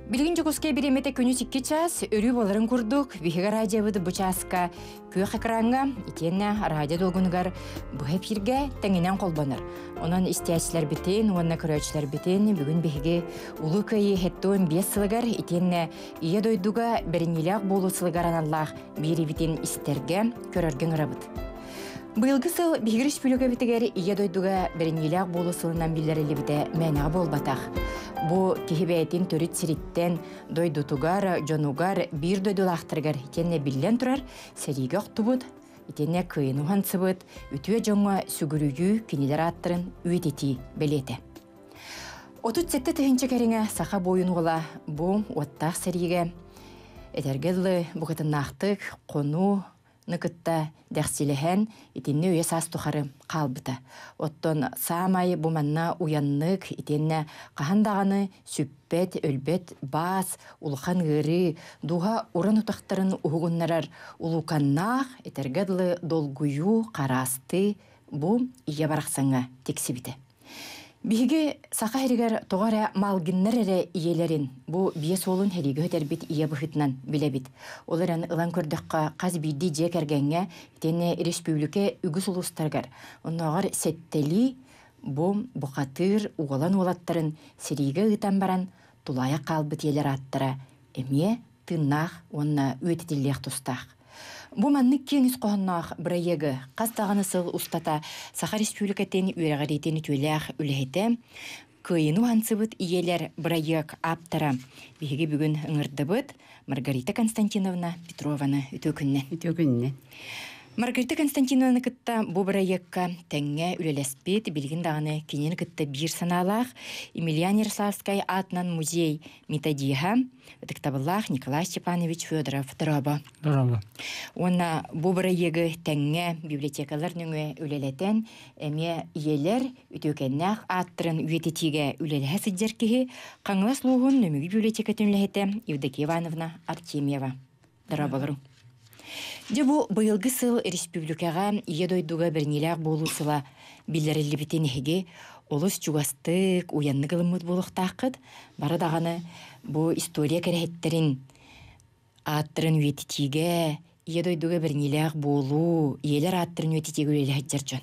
Билигин Дьокуускай бириэмэтэ күнүс 2 чаас, өрүү буоларын курдук, биһиги радиобыт бу чааска күөх экраҥҥа итиэннэ радио долгунугар быһа эфиргэ тэҥинэн холбонор. Онон истээччилэрбитин уонна көрөөччүлэрбитин бүгүн биһиги Улуу Кыайыы 75 сылыгар итиэннэ Ийэ дойдуга бэриниилээх буолуу сылыгар аналлаах биэриибитин истэргэ, көрөргө ыҥырабыт. Быйылгы сыл биһиги республикабытыгар Ийэ дойдуга бэриниилээх буолуу сылынан биллэриллибитэ мээнэҕэ буолбатах. Бу киһи бэйэтин төрүт сириттэн, дойдутугар, дьонугар, биир дойдулаахтарыгар итиэннэ биллэн турар сэриигэ охтубут, итиэннэ кыайыны уһансыбыт үтүө дьоҥҥо сүгүрүйүү кинилэр ааттарын үйэтитии бэлиэтэ. 37 тыһыынча кэриҥэ саха буойун уола бу уоттаах сэриигэ этэргэ дылы букатыннаахтык хонуу кытта дэхсилэһэн итиннэ үйэ саас тухары хаалбыта. Оттон саамай бу манна уйаннык итиэннэ хаһан даҕаны сүппэт, өлбөт баас, улахан ыарыы, дууһа уран утахтарын уһугуннарар улууканнаах, этэргэ дылы долгуйуу, хараастыы бу ийэ барахсаҥҥа тиксибитэ. Биһиги Саха сиригэр тоҕо эрэ малгиннар эрэ ийэлэрин бу биэс уолун сэриигэ өтөрбүт ийэ быһыытынан билэбит. Ол эрэн ылан көрдөххө, хас биирдии дьиэ кэргэҥҥэ итиэннэ республика үгүс улуустарыгар оннооҕор сэттэлии бу бухатыыр уолан уолаттарын сэриигэ ыытан баран тулаайах хаалбыт ийэлэр ааттара эмиэ тыыннаах уонна үйэтитиллиэх тустаах. Бу маннык киэҥ ис хоһоонноох бырайыагы хас даҕаны сыл устата Саха Республикатын үөрэҕириитин үтүөлээх үлэһитэ, Кыайыыны уһансыбыт ийэлэр бырайыак ааптара биһиги бүгүн ыҥырдыбыт Маргарита Константиновна Петрованы үтүө күннэн. Үтүө күннэн. Маргарита Константиновнаны кытта бу бырайыакка тэҥҥэ үлэлэспит, билигин даҕаны кинини кытта биир санаалаах Емельян Ярославскай аатынан музей методиһа ытыктабыллаах Николай Степанович Федоров дорообо. Дорообо. Уонна бу бырайыагы тэҥҥэ библиотекалар нөҥүө үлэлэтэн, эмиэ ийэлэр үтүөкэннээх ааттарын үйэтитиигэ үлэлэһэ сылдьар киһи Хаҥалас улууһун Нөмүгү библиотекатын үлэһитэ Евдокия Ивановна Артемьева. Дорооболоруҥ. Дьэ бу быйылгы сыл республикаҕа Ийэ дойдуга бэриниилээх буолуу сыла биллэриллибитин эһиги олус чугастык, уйаннык ылыммыт буолуохтааххыт. Бары даҕаны бу история кэрэһиттэрин ааттарын үйэтитиигэ, Ийэ дойдуга бэриниилээх буолуу, ийэлэр ааттарын үйэтитиигэ үлэлэһэр дьон.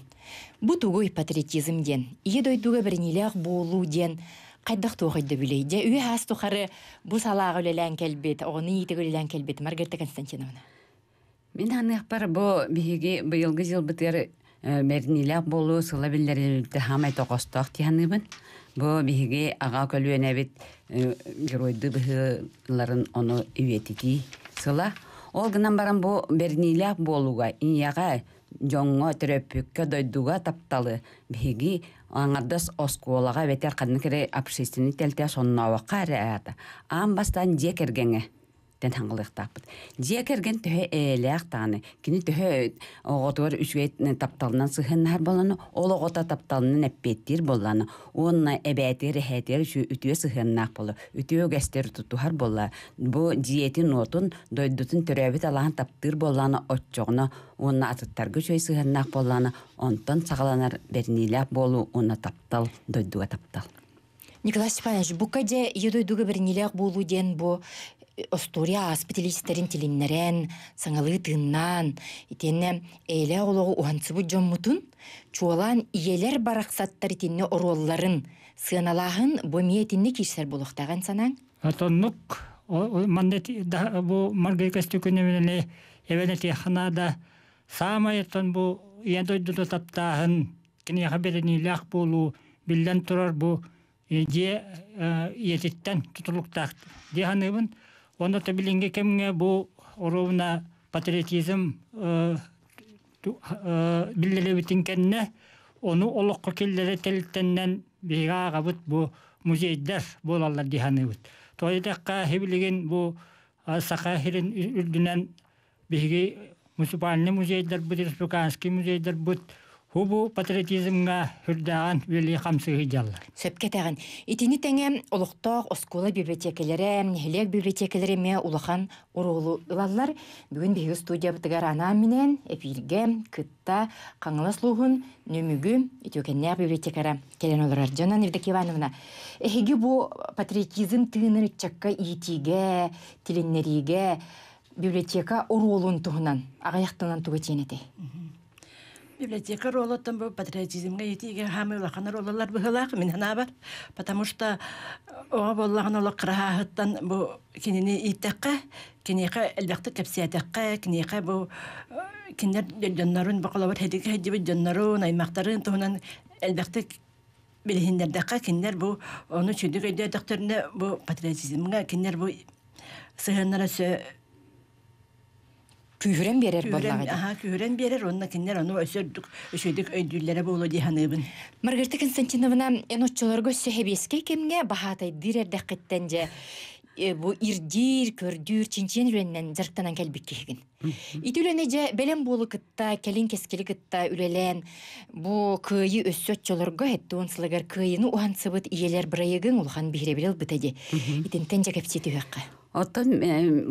Бу тугуй патриотизм диэн? Ийэ дойдуга бэриниилээх буолуу диэн хайдах туох өйдөбүлүй? Дьэ, үйэ аас тухары бу салааҕа үлэлээн кэлбит, оҕону иитигэ үлэлээн кэлбит Маргарита Константиновна. Мин ханыахпар бу биһиги быйылгы дьылбытыгар бэриниилээх буолуу сыла биллэрилбитэ хаамай тоҕостоох дии саныыбын. Бу биһиги аҕа көлүөнэбит геройдуу быһыыларын ону үйэтитии сыла. Ол гынан баран бу бэриниилээх буолууга ийэҕэ, дьоҥҥо, төрөппүккэ, дойдуга тапталы биһиги аҥардас оскуолаҕа эбэтэр ханнык эрэ общественный тэрилтэ соннообокко эрэ аата аан бастаан дьиэ кэргэҥҥэ тэн хаҥалыахтаахпыт. Дьиэ кэргэн төһө эйэлээх даҕаны, кини төһө оҕотугар үчүгэй тапталынан сыһыаннаһар буоллаҕына, ол оҕото тапталынан эппиэттиир буоллаҕына уонна эбээтигэр, эһээтигэр үтүө сыһыаннаах буолар, үтүө үгэстэри тутуһар буолла, бу дьиэтин-уотун, дойдутун төрөөбүт алааһын таптыыр буоллаҕына, оччоҕуна уонна атыттарга үчүгэй сыһыаннаах буоллаҕына, онтон саҕаланар бэриниилээх буолуу уонна таптал, дойдуга таптал. Николай Степанович, бука дьэ ийэ дойдуга бэриниилээх буолуу диэн бу остуоруйа ааспыт илиистэрин тилиннэрэн, саҥалыы тыыннаан, итиэннэ эйэлээх олоҕу уһансыбыт дьоммутун, чуолаан ийэлэр барахсаттар итиннэ оруолларын сыаналааһын бу эмиэ итиннэ киирсэр буолуохтааҕын санааҥ? Отоннук манна бу Маргарита Көстөкүнэбинэни эбэн этиэххэ наада. Саамай оттон бу ийэ дойдуну таптааһын киниэхэ бэриниилээх буолуу биллэн турар бу дьиэ ийэтиттэн тутулуктаах дии саныыбын. Уонна то билиҥҥи кэмҥэ бу оруобуна патриотизм биллэрибитин кэннэ ону олоххо киллэрэ тэрилтэннэн биһиги ааҕабыт бу музейдар буолаллар дии саныыбыт. Тоҕо диэтэххэ билигин бу Саха сирин үрдүнэн биһиги муниципальный музейдарбыт, республиканский музейдарбыт. Бу патриотизмҥа үрдээҕин үлэлии хамсыы сылдьаллар. Сөпкө этэҕин. Итини тэҥэ олохтоох оскуола библиотекэлэрэ, нэһилиэк библиотекэлэрэ эмиэ улахан оруолу ылаллар. Бүгүн биһиги студиябытыгар анаан-минээн эпииргэ кытта Хаҥалас улууһун Нөмүгү үтүөкэннээх библиотекара кэлэн олорор. Дьонон Евдокия Ивановна, эһиги бу патриотизм тыынын ыччакка иитиигэ, тилиннэриигэ библиотека оруолун туһунан аҕыйах тылынан тугу этиэн этэй? Библиотека ролоттон бу патриотизмҥа иитиигэ хаамыы улахан роллар быһыылаах мин санаабар, потому что оҕо буоллаҕына олох кыраһааһыттан бу кинини ииттэххэ, киниэхэ элбэхтик кэпсээтэххэ, киниэхэ бу кинилэр дьоннорун бу холобур хэдигэ сылдьыбыт дьоннорун, аймахтарын туһунан элбэхтик билиһиннэрдэххэ, кинилэр бу ону үчүгдүк өйдөөтөхтөрүнэ бу патриотизмҥа кинилэр бу сыһыаннара өссө күүһүрэн биэрэр буоллаҕа дии. Аха, күүһүрэн биэрэр уонна кинилэр ону өссө үрдүк үчүгэйдик өйдүүллэрэ буолуо дии саныыбын. Маргарита Константиновна, эн оччолорго өссө сэбиэскэй кэмҥэ баһаатайдыыр эрдэххиттэн дьэ бу ирдиир, көрдүүр, чинчийэн үлэннэн дьарыктанан кэлбит киһигин. Ити үлэни дьэ бэлэм буолу кытта, кэлин кэскили кытта үлэлээн бу кыайыы өссө оччолорго 70 сылыгар кыайыыны уһансыбыт ийэлэр бырайыгыҥ улахан биһирэбили ылбыта дии. Итинтэн дьэ кэпсии түһүөххэ. Оттон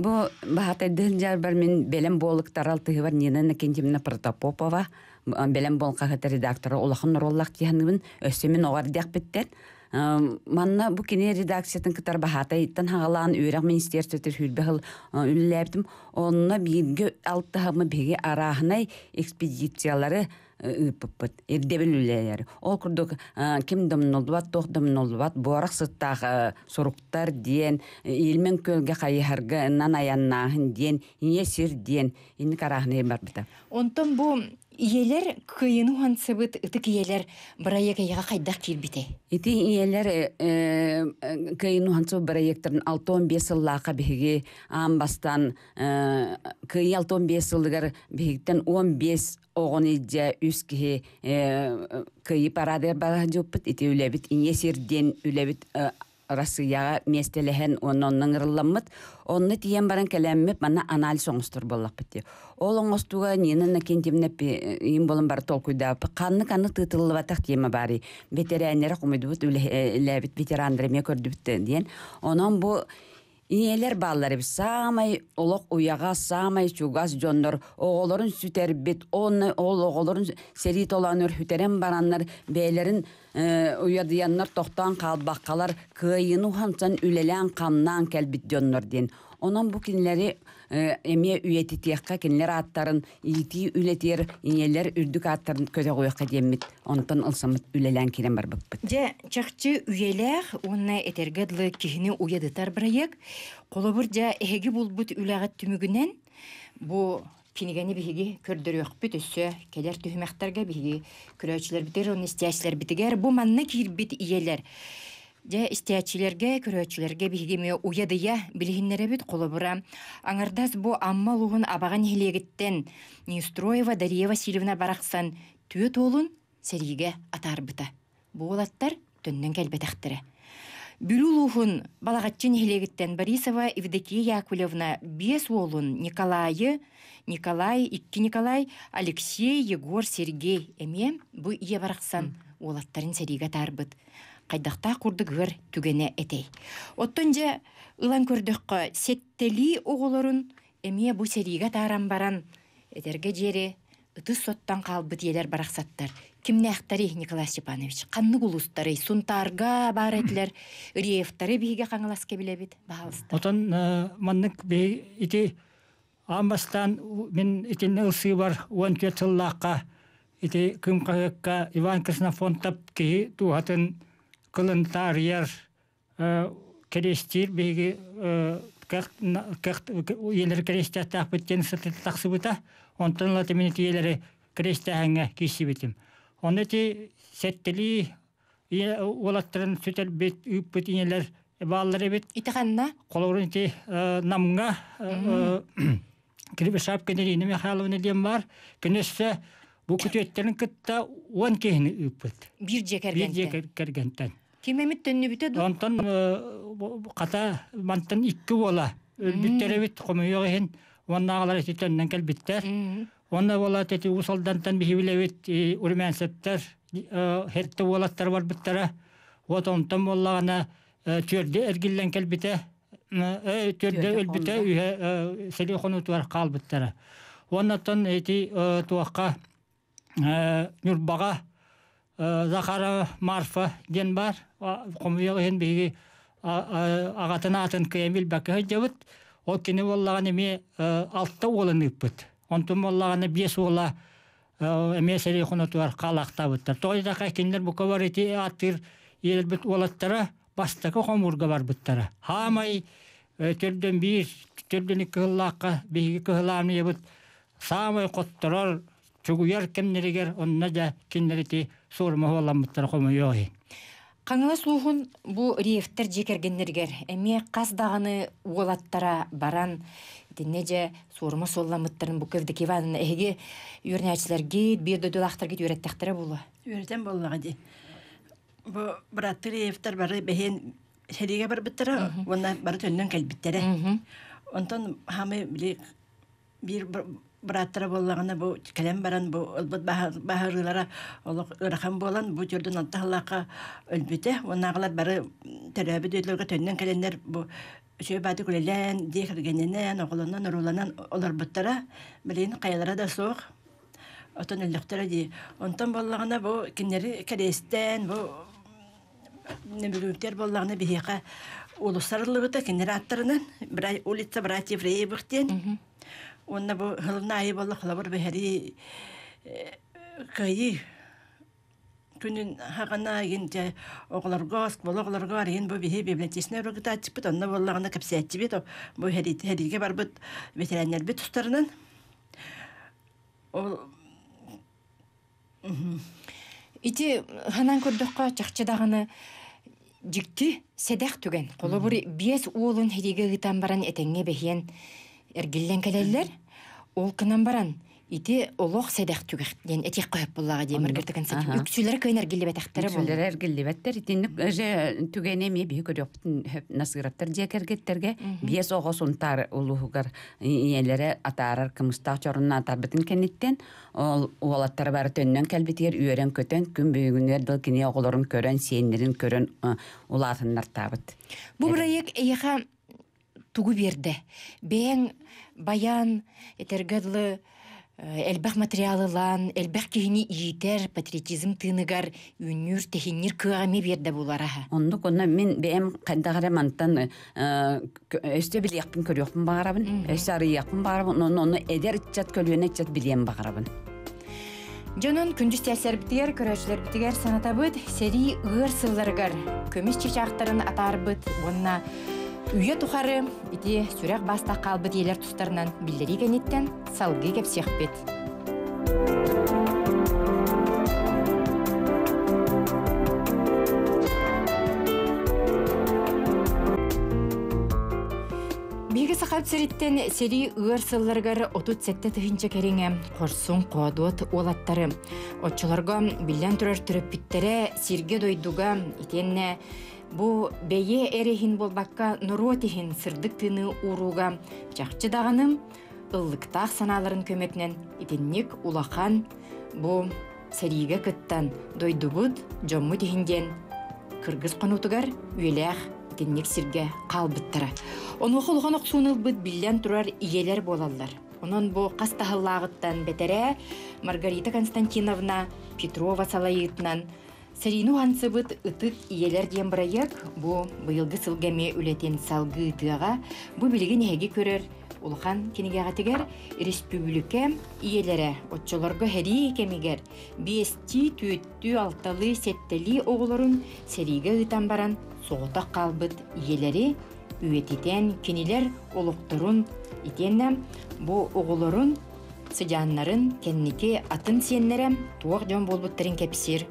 бу баһаатайдыын дьарбар мин бэлэм буолуктар алтыһыбар Нина Иннокентьевна Протопопова бэлэм буол хаһыат редактора улахан оруоллаах дии өссө мин оҕо эрдэхпиттэн манна бу кини редакциятын кытары баһаатайыттан хаҕалаан үөрэх министерствотыгар сүүрбэ сыл үлэлээбитим. Онно бииргэ алтыһаммыт биһиги арааһынай экспедициялары ыыппыппыт ирдэбил үлэлэр ол курдук ким домнуллубат туох домнуллубат буорах сыттаах суруктар диэн Ильмен күөлгэ хайыһарга ынан айаннааһын диэн ийэ сир диэн инник арааһынай барбыта. Онтон бу ийэлэр кыайыны уһансыбыт ытык ийэлэр бырайыак эйиэхэ хайдах киирбитэй? Ити ийэлэр кыайыны уһансыбыт бырайыактарын 65 сыллаахха биһиги аан бастаан кыайыы 65 сылыгар биһигиттэн 15 оҕону илдьэ үс киһи кыайыы парадыгар бара сылдьыбыппыт. Ити үлэбит ийэ сир диэн үлэбит Россияҕа миэстэлэһэн уонна онно ыҥырылламмыт. Онно тиийэн баран кэлэммит манна анализ оҥостор буоллахпыт дии. Ол оҥостууга Нина Иннокентьевна иин буолан бары толкуйдаабыппыт. Ханнык-ханнык тыытыллыбатах тиэмэ баарый? Бэтэрээннэри хомуйдубут, үлэлээбит ветераннары эмиэ көрдүбүт диэн. Онон бу Ийэлэр бааллар эбит саамай олох уйаҕас, саамай чугас дьоннор оҕолорун сүтэрбит, уонна ол оҕолорун сэрии толоонугар сүтэрэн бараннар бэйэлэрин уйадыйаннар тохтоон хаалбаккалар кыайыыны уһансан үлэлээн-хамнаан кэлбит дьоннор диэн. Онон бу кинилэри эмиэ үйэтитиэххэ, кинилэр ааттарын иитии үлэтигэр ийэлэр үрдүк ааттарын көтөҕүөххэ диэммит онтон ылсаммыт үлэлээн киирэн барбыппыт. Дьэ, чахчы үйэлээх уонна этэргэ дылы киһини уйадытар бырайыак. Холобур, дьэ, эһиги булбут үлэҕит түмүгүнэн бу кинигэни биһиги көрдөрүөхпүт өссө кэлэр түһүмэхтэргэ биһиги көрөөччүлэрбитигэр уонна истээччилэрбитигэр бу манна киирбит ийэлэр Дьэ, истээччилэргэ, көрөөччүлэргэ биһиги эмиэ уйадыйа билиһиннэрэбит. Холобура, аҥардас бу Амма улууһун Абаҕа нэһилиэгиттэн Неустроева Дария Васильевна барахсан түөрт уолун сэриигэ атаарбыта. Бу уолаттар төннөн кэлбэтэхтэрэ. Бүлүү улууһун Балаҕаччы нэһилиэгиттэн Борисова Евдокия Яковлевна биэс уолун Николайы, Николай, икки Николай, Алексей, Егор, Сергей эмиэ бу ийэ барахсан уолаттарын сэриигэ атаарбыт хайдахтаах курдук ыар түгэнэ этэй. Оттон дьэ ылан көрдөххө, сэттэлии оҕолорун эмиэ бу сэриигэ атааран баран, этэргэ диэри ытыс соттон хаалбыт ийэлэр барахсаттар. Кимнээхтэрий, Николай Степанович? Ханнык улуустарый? Сунтаарга баар этилэр, Реевтары биһиги Хаҥаласка билэбит, баһаалыста. Отон маннык ити аан бастаан мин итиннэ ылсыыбар 14 сыллаахха ити Кыым хаһыакка Иван Ксенофонтов киһи дууһатын кылын таарыйар кэриэстиир биһиги ийэлэри кэриэстээхтээхпит диэн тахсыбыта. Онтон ыла мин ити ийэлэри кэриэстээһиҥҥэ киирсибитим. Онно ити сэттэлии ийэ уолаттарын сүтэрбит, ыыппыт ийэлэр бааллар эбит. Ити ханна? Холобур ити Намҥа Кривошапкина Ирина Михайловна диэн баар. Кини өссө бу күтүөттэрин кытта 10 киһини ыыппыт. Биир дьиэ кэргэнтэн. Биир дьиэ кэргэнтэн. Ким эмит төннүбүтэ дуу? Онтон хата мантан икки уола өлбүттэр эбит хомойуох иһин уоннааҕылар ити төннөн кэлбиттэр. Онно буолаат ити Уус Алдантан биһи билэбит Румянцевтар херте уолаттар барбыттара. Вот онтон буоллаҕына түөрдэ эргиллэн кэлбитэ. Түөрдэ өлбүтэ үһэ сэрии хонуутугар хаалбыттара. Уоннаттан ити туохха Ньурбаҕа Захарова Марфа диэн баар. Хомуйуох иһин биһиги аҕатын аатын кыайан билбэккэ сылдьабыт. Ол кини буоллаҕына эмиэ алта уолун ыыппыт. Онтун буоллаҕына биэс уола эмиэ сэрии хонотугар хаалаахтаабыттар. Тоҕо диэтэххэ кинилэр бука бары ити ааттыыр иэрбит уолаттара бастакы хомуурга барбыттара. Хаамай төрдөн биир, төрдөн икки сыллаахха биһиги кыһылаамыйабыт саамай хотторор чугуйар кэмнэригэр онно дьэ кинилэр ити суорума суолламмыттара хомойуох иһин. Хаҥалас улууһун бу Риевтэр дьиэ кэргэннэригэр эмиэ хас даҕаны уолаттара баран итиннэ дьэ суорума суолламмыттарын бу Евдокия Ивановна эһиги үөрэнээччилэргит, биир дойдулаахтаргыт үөрэттэхтэрэ буолуо. Үөрэтэн буоллаҕа дии. Бу бырааттыы Риевтэр бары бэһиэн сэриигэ барбыттара уонна бары төннөн кэлбиттэрэ. Онтон хаамай били биир бырааттара буоллаҕына бу кэлэн баран бу ылбыт баһырыылара олох ыарахан буолан бу төрдүн алта сыллаахха өлбүтэ уоннааҕылар бары төрөөбүт дойдуларга төннөн кэлэннэр бу үчүгэй баатык үлэлээн дьиэ кэргэнинэн оҕолонон урууланан олорбуттара билигин хайалара да суох отон өллөхтөрө дии онтон буоллаҕына бу кинилэри кэриэстээн бу Нөмүрүүктэр буоллаҕына биһиэхэ уулуссарыллыбыта кинилэр ааттарынан улица братьев Реевых диэн. Уонна бу сылын аайы буолла холобур бэһэрии кыайыы күнүн хаҕана игин дьэ оҕолорго оскуола оҕолорго арыйын бу биһи библиотечнай уругутааччыппыт онно буоллаҕына кэпсээччибит бу сэриигэ барбыт ветераннарбыт тустарынан ол Ити ханан көрдөххө чахчы даҕаны дьикти сэдэх түгэн. Холобур, биэс уолун сэриигэ ыытан баран этэҥҥэ бэһиэн эргиллэн кэлэллэр. Ол гынан баран ити олох сэдэх түгэх диэн этиэххэ сөп буоллаҕа дии Маргарита Константиновна. Үксүлэрэ кыайан эргиллибэтэхтэрэ буолла. Үксүлэрэ эргиллибэттэр. Итинник же түгэни эмиэ биһи көрүөхпүтүн сөп Насыровтар дьиэ кэргэттэргэ биэс оҕо Сунтаар улууһугар ийэлэрэ атаарар кымыстаах чорунна атаарбытын кэнниттэн Ол уолаттара бары төннөн кэлбитигэр үөрэн-көтөн, күн бүгүнүгэр дылы кини оҕолорун көрөн, сиэннэрин көрөн улаатыннартаабыт. Бу бырайыак эйиэхэ тугу биэрдэ? Бэйэҥ баян, этэргэ дылы, элбэх материал ылан, элбэх киһини иитэр, патриотизм тыыныгар үүннүүр, тэһиннир кыаҕа эмиэ биэрдэ буолара. Оннук, онно мин бэйэм хайдах эрэ мантан өссө билиэхпин көрүөхпүн баҕарабын, өссө арыйыахпын баҕарабын, онно онно эдэр ыччат, көлүөнэ ыччат билиэн баҕарабын. Дьонун күндү истээччилэрбитигэр, көрөөччүлэрбитигэр санатабыт, сэрии ыар сылларыгар көмүс чычаахтарын атаарбыт уонна үйэ тухары ити сүрэх бастах хаалбыт ийэлэр тустарынан биллэрии кэнниттэн салгыы кэпсиэхпит. Биһиги Сахабыт сириттэн сэрии ыар сылларыгар 37 тыһыынча кэриҥэ хорсун хоодуот уолаттары оччолорго биллэн турар төрөппүттэрэ сиргэ-дойдуга итиэннэ бу бэйэ эрэ иһин буолбакка норуот иһин сырдык тыыны уурууга чахчы даҕаны ыллыктаах санааларын көмөтүнэн итинник улахан бу сэриигэ кыттан дойдубут, дьоммут иһин диэн кыргыз хонуутугар үйэлээх итинник сиргэ хаалбыттара. Онуоха улахан охсууну ылбыт биллэн турар ийэлэр буолаллар. Онон бу хас таһыллааҕыттан бэтэрээ Маргарита Константиновна Петрова салайыытынан Сэриини уһансыбыт ытык ийэлэр диэн бырайыак бу быйылгы сылга эмиэ үлэтин салгыы ыытыаҕа. Бу билигин эһиги көрөр улахан кинигэҕитигэр республика ийэлэрэ оччолорго сэрии кэмигэр биэстии, түөртүү, алталыы, сэттэлии оҕолорун сэриигэ ыытан баран соҕотох хаалбыт ийэлэри үйэтитэн кинилэр олохторун итиэннэ бу оҕолорун сыдьааннарын кэнники атын сиэннэрэ туох дьон буолбуттарын кэпсиир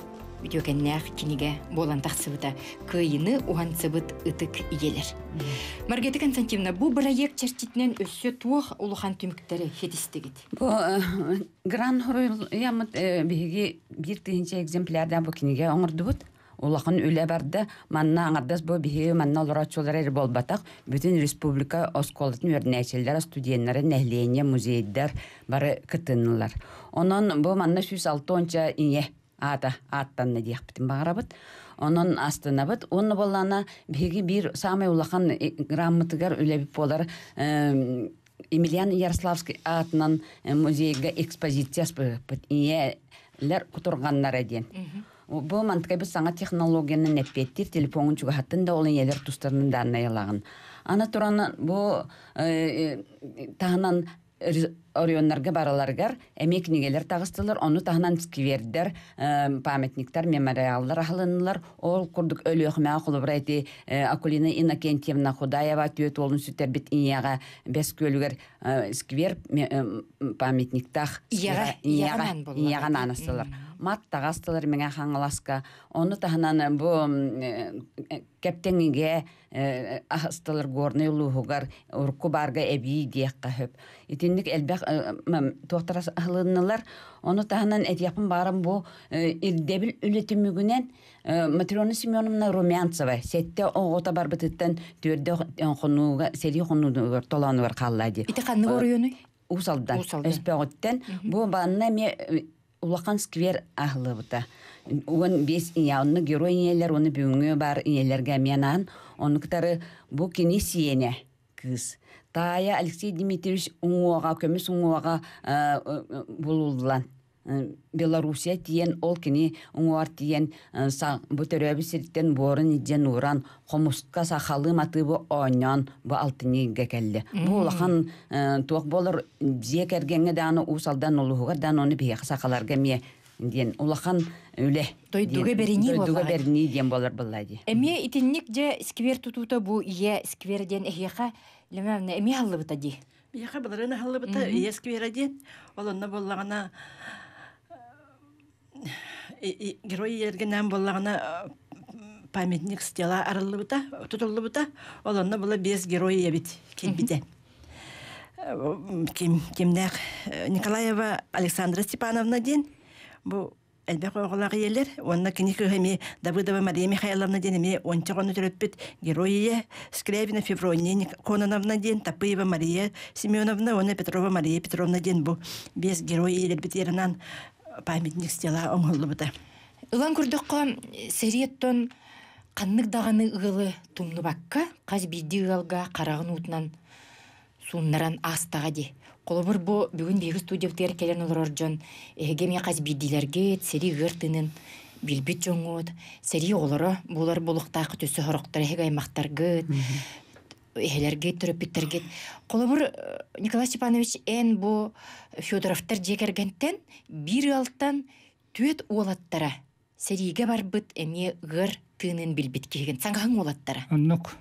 үтүөкэннээх кинигэ буолан тахсыбыта кыайыны уһансыбыт ытык ийэлэр. Маргарита Константиновна, бу бырайыак чэрчитинэн өссө туох улахан түмүктэри ситистигит? Бу Гран Хоруйяммыт биһиги биир тыһыынча экземплярдаах бу кинигэ оҥордубут. Улахан үлэ барда. Манна аҥардас бу биһиги манна олорооччулар эрэ буолбатах, бүтүн республика оскуолатын үөрэнээччилэрэ, студеннара, нэһилиэнньэ, музейдар бары кытыннылар. Онон бу манна 106 ийэ аата ааттанна диэхпитин баҕарабыт. Онон астынабыт. Уонна буоллаана биһиги биир саамай улахан граммытыгар үлэбит буолар Емельян Ярославский аатынан музейга экспозиция аспыппыт. Ийэлэр кутурҕаннара диэн. Бу мантыкай саҥа технологиянан эппиэттиир телефоҥун чугаһаттын да ол ийэлэр тустарынан дааннайалаҕын. Аны туран бу таһынан оройуоннарга бараларыгар эмиэ кинигэлэр таҕыстылар, ону таһынан сквердэр, памятниктар, мемориаллар аһылыннылар. Ол курдук Өлүөхүмэҕэ холобура ити Акулина Иннокентьевна Худаева түөрт уолун сүтэрбит ийэҕэ Бэс Күөлүгэр сквер памятниктаах ийэҕэ наанастылар. Мат таҕастылар Мэҥэ Хаҥаласка. Ону таһынан бу Кэптэҥигэ аһастылар Горнай улууһугар урукку баарга эбии диэххэ сөп. Итинник элбэх туохтара аһылыннылар. Ону таһынан этиэхпин баарым бу ирдэбил үлэ түмүгүнэн Матрена Семеновна Румянцева сэттэ оҕото барбытыттан түөрдэ хонууга сэрии хонуутугар толоонугар хаалла дии. Ити ханнык оройуонуй? Уус Алдан. Өспөҕүттэн. Бу банна эмиэ улахан сквер аһыллыбыта. 15 ийэ, онно герой ийэлэр, уонна бүгүҥҥү баар ийэлэргэ эмиэ анаан, ону кытары бу кини сиэнэ кыыс. Таайа Алексей Дмитриевич уҥуоҕа, көмүс уҥуоҕа булуллан Белоруссия тиийэн, ол кини уҥуоҕар тиийэн бу төрөөбүт сириттэн буорун илдьэн ууран, хомуска сахалыы матыыбы оонньоон бу алтынньыга кэллэ. Бу улахан туох буолар дьиэ кэргэҥҥэ даҕаны Уус Алдан улууһугар даҕаны ону биһиэхэ сахаларга эмиэ диэн улахан үлэ. Дойдуга бэринии Дойдуга бэринии диэн буолар буолла дии. Эмиэ итинник дьэ сквер тутуута бу ийэ сквер диэн эһиэхэ Лемевна эмиэ аһыллыбыта дии. Биһиэхэ былырыын аһыллыбыта ийэ сквера диэн. Ол онно буоллаҕына герой ийэлэргинээн буоллаҕына памятник стела арыллыбыта, тутуллубута. Ол онно була биэс герой ийэбит киирбитэ. Ким, кимнээх Николаева Александра Степановна диэн бу элбэх оҕолоох ийэлэр уонна кини кыыһа эмиэ Давыдова Мария Михайловна диэн эмиэ уонча оҕону төрөппүт герой ийэ Скрябина Феврония Кононовна диэн Тапыева Мария Семеновна уонна Петрова Мария Петровна диэн бу биэс герой ийэлэрбит ерынан памятник стела оҥоһуллубута. Ылан көрдөххө, сэриэттэн ханнык даҕаны ыалы тумнубакка, хас биирдии ыалга хараҕын уутунан сууннаран аастаҕа дии. Холобур, бу бүгүн биһиги студиябытыгар кэлэн олорор дьон эһиги эмиэ хас биирдиилэргит сэрии ыар тыынын билбит дьоҥҥут, сэрии оҕолоро буолар буолуохтааххыт өссө сорохтор эһиги аймахтаргыт, эһэлэргит, төрөппүттэргит. Холобур, Николай Степанович, эн бу Федоровтар дьиэ кэргэнтэн биир ыалтан түөрт уолаттара сэриигэ барбыт эмиэ ыар тыынын билбит киһигин. Саҥаһыҥ уолаттара. Оннук.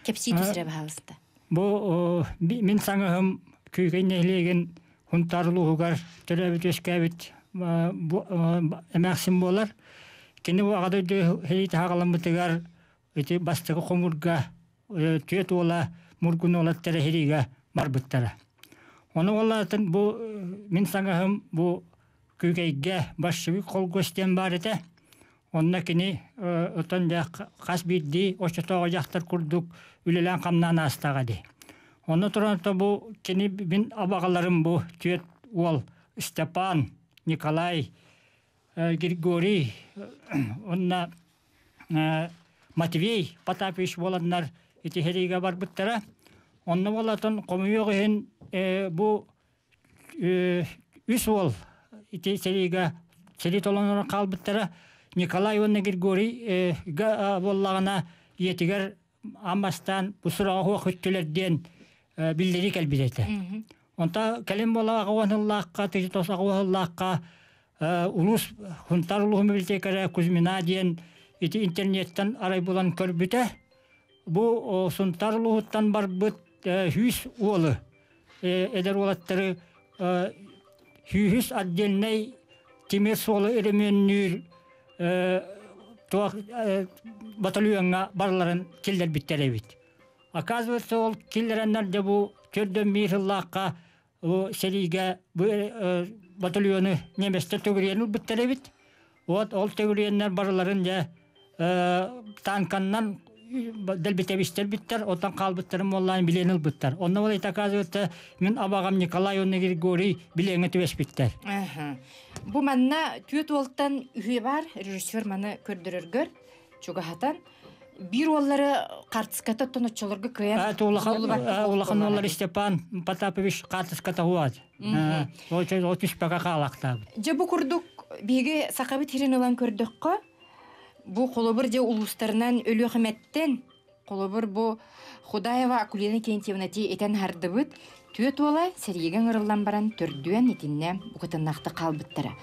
Кэпсии түсэрэ баһаалыста. Бу мин саҥаһым Күүкэй нэһилиэгин Хунтаар улууһугар төрөөбүт үөскээбит эмээхсин буолар. Кини бу Аҕа дойду сэриитэ саҕаламмытыгар ити бастакы хомуурга түөрт уола Мургун уолаттара сэриигэ барбыттара. Ону уоллаатын бу мин саҥаһым бу Күүкэйгэ большевик холкуос диэн баар этэ. Онно кини оттон дьэ хас биирдии оччотооҕу дьахтар курдук үлэлээн-хамнаан аастаҕа дии. Онно туран бу кини мин абаҕаларым бу түөрт уол Степан, Николай, Григорий уонна Матвей Потапович буоланнар ити сэриигэ барбыттара. Онно буолатын хомуйуох иһин бу үс уол ити сэриигэ сэрии толонорон хаалбыттара. Николай уонна Григорий буоллаҕына ийэтигэр аан бастаан бу сураҕа суох үттүлэр диэн биллэрии кэлбит этэ. Онто кэлин буола аҕа уон сыллаахха, 1908 сыллаахха улуус Хунтаар улууһун библиотекаря Кузьмина диэн ити интернеттэн арай булан көрбүтэ. Бу Сунтаар улууһуттан барбыт 100 уолу эдэр уолаттары сүүһүс отдельнай тимир суолу өрөмүөннүүр туох батальоҥҥа барыларын киллэрбиттэр эбит. Оказывается, ол киллэрэннэр дьэ бу төрдөн биир сыллаахха бу сэриигэ бу батальону немецтэр төгүрүйэн ылбыттар эбит. Вот ол төгүрүйэннэр барыларын дьэ Танканнан дэлбитэбистэр биттэр, оттон хаалбыттарын буоллаан билиэн ылбыттар. Онно ол оказывается, мин абаҕам Николай уонна Григорий билиэҥҥэ түбэспиттэр. Бу манна түөрт уолтан үһүө бар, режиссер маны көрдөрөргөр чугаһатан биир уоллары картыската оттон оччолорго кыайан улахан уоллары Степан Потапович картыската хуат. Ол түспэкэ хаалахтаабыт. Дьэ бу курдук биһиги сахабыт сирин ылан көрдөххө, бу холобур дьэ улуустарынан Өлүөхүмэттэн холобур бу Худаева Акулина Кентьевна ти этэн хардыбыт түөрт уола сэриигэ ыҥырыллан баран төрдүөн итиннэ букатыннаахтык хаалбыттара.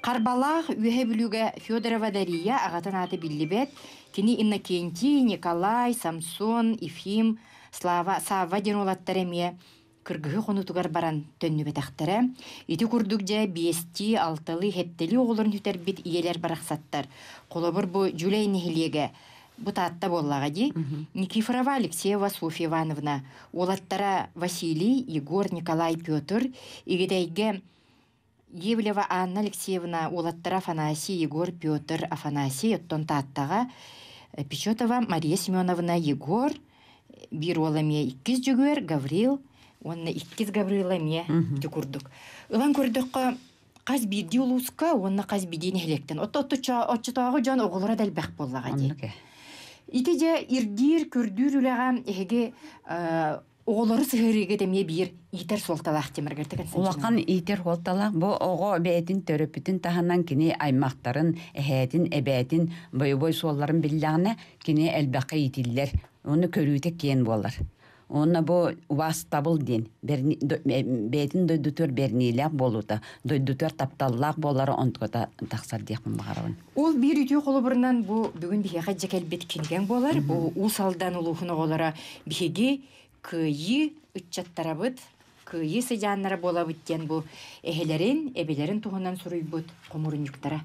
Харбалаах Үөһэ Бүлүүгэ Федорова Дария аҕатын аата биллибэт, кини Иннокентий, Николай, Самсон, Ефим, Слава, Савва диэн уолаттар эмиэ кыргыһыы хонуутугар баран төннүбэтэхтэрэ. Ити курдук дьэ биэстии, алталыы, сэттэлии оҕолорун сүтэрбит ийэлэр барахсаттар. Холобур, бу Дьүлэй нэһилиэгэ бу Таатта буоллаҕа дии. Никифорова Алексеева Софья Ивановна, уолаттара Василий, Егор, Николай, Петр, Игидэйгэ Евлева Анна Алексеевна, уолаттара Афанасий, Егор, Петр, Афанасий, оттон Тааттаҕа Печетова Мария Семеновна, Егор, биир уол эмиэ иккис Дьөгүөр, Гаврил уонна иккис Гаврила эмиэ ити курдук. Ылан көрдөххө, хас биирдии улууска уонна хас биирдии нэһилиэктэн оччотооҕу дьон оҕолоро да элбэх буоллаҕа дии. Ити дьэ ирдиир, көрдүүр үлэҕэ эһиги оҕолору сыһыарыыга эмиэ биир иитэр суолталаах Тимиргэр Улахан иитэр суолталаах бу оҕо бэйэтин төрөппүтүн таһынан кини аймахтарын, эһээтин, эбээтин бойобуой суолларын биллэҕинэ кини элбэххэ иитиллэр, уонна көрүүтэ киэн буолар. Уонна бу убаастабыл диэн бэйэтин дойдутугар бэриниилээх буолуута, дойдутугар тапталлаах буолара онтуката тахсар диэхпин баҕарабын. Ол биир үтүө холобурунан бу бүгүн биһиэхэ дьэ кэлбит кинигэҥ буолар. Бу Уус Алдан улууһун оҕолоро биһиги кыайыы ыччаттарабыт, кыайыы сыдьааннара буолабыт диэн бу эһэлэрин, эбэлэрин туһунан суруйбут хомурунньуктара.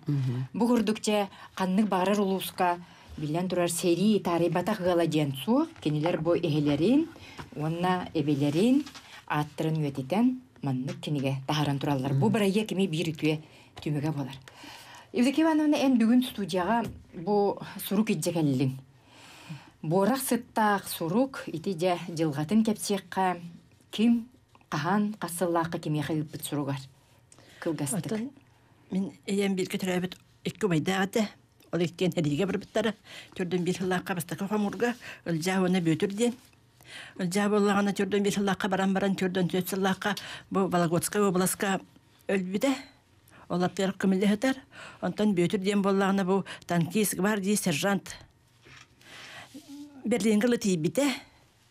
Бу курдук дьэ ханнык баҕарар улууска биллэн турар сэрии таарыйбатах ыала диэн суох. Кинилэр бу эһэлэрин уонна эбэлэрин ааттарын үйэтитэн маннык кинигэ таһааран тураллар. Бу бырайыак эмиэ биир үтүө түмүгэ буолар. Евдокия Ивановна, эн бүгүн студияҕа бу сурук илдьэ кэллиҥ. Буорах сыттаах сурук ити дьэ дьылҕатын кэпсиэххэ ким хаһан хас сыллаахха кимиэхэ ыыппыт суругар кылгастык. Оттон мин ийэм бииргэ төрөөбүт икки убайдаах этэ. Ол иккиэн сэриигэ барбыттара. Төрдүн биир сыллаахха бастакы хомуурга Ылдьаа уонна Бүөтүр диэн. Ылдьаа буоллаҕына төрдүн биир сыллаахха баран баран төрдүн түөрт сыллаахха бу Вологодскай уобаласка өлбүтэ. Ол аттыгар көмүллэ сытар. Онтон Бүөтүр диэн буоллаҕына бу танкист гвардии сержант Берлиҥҥэ ыла тиийбитэ.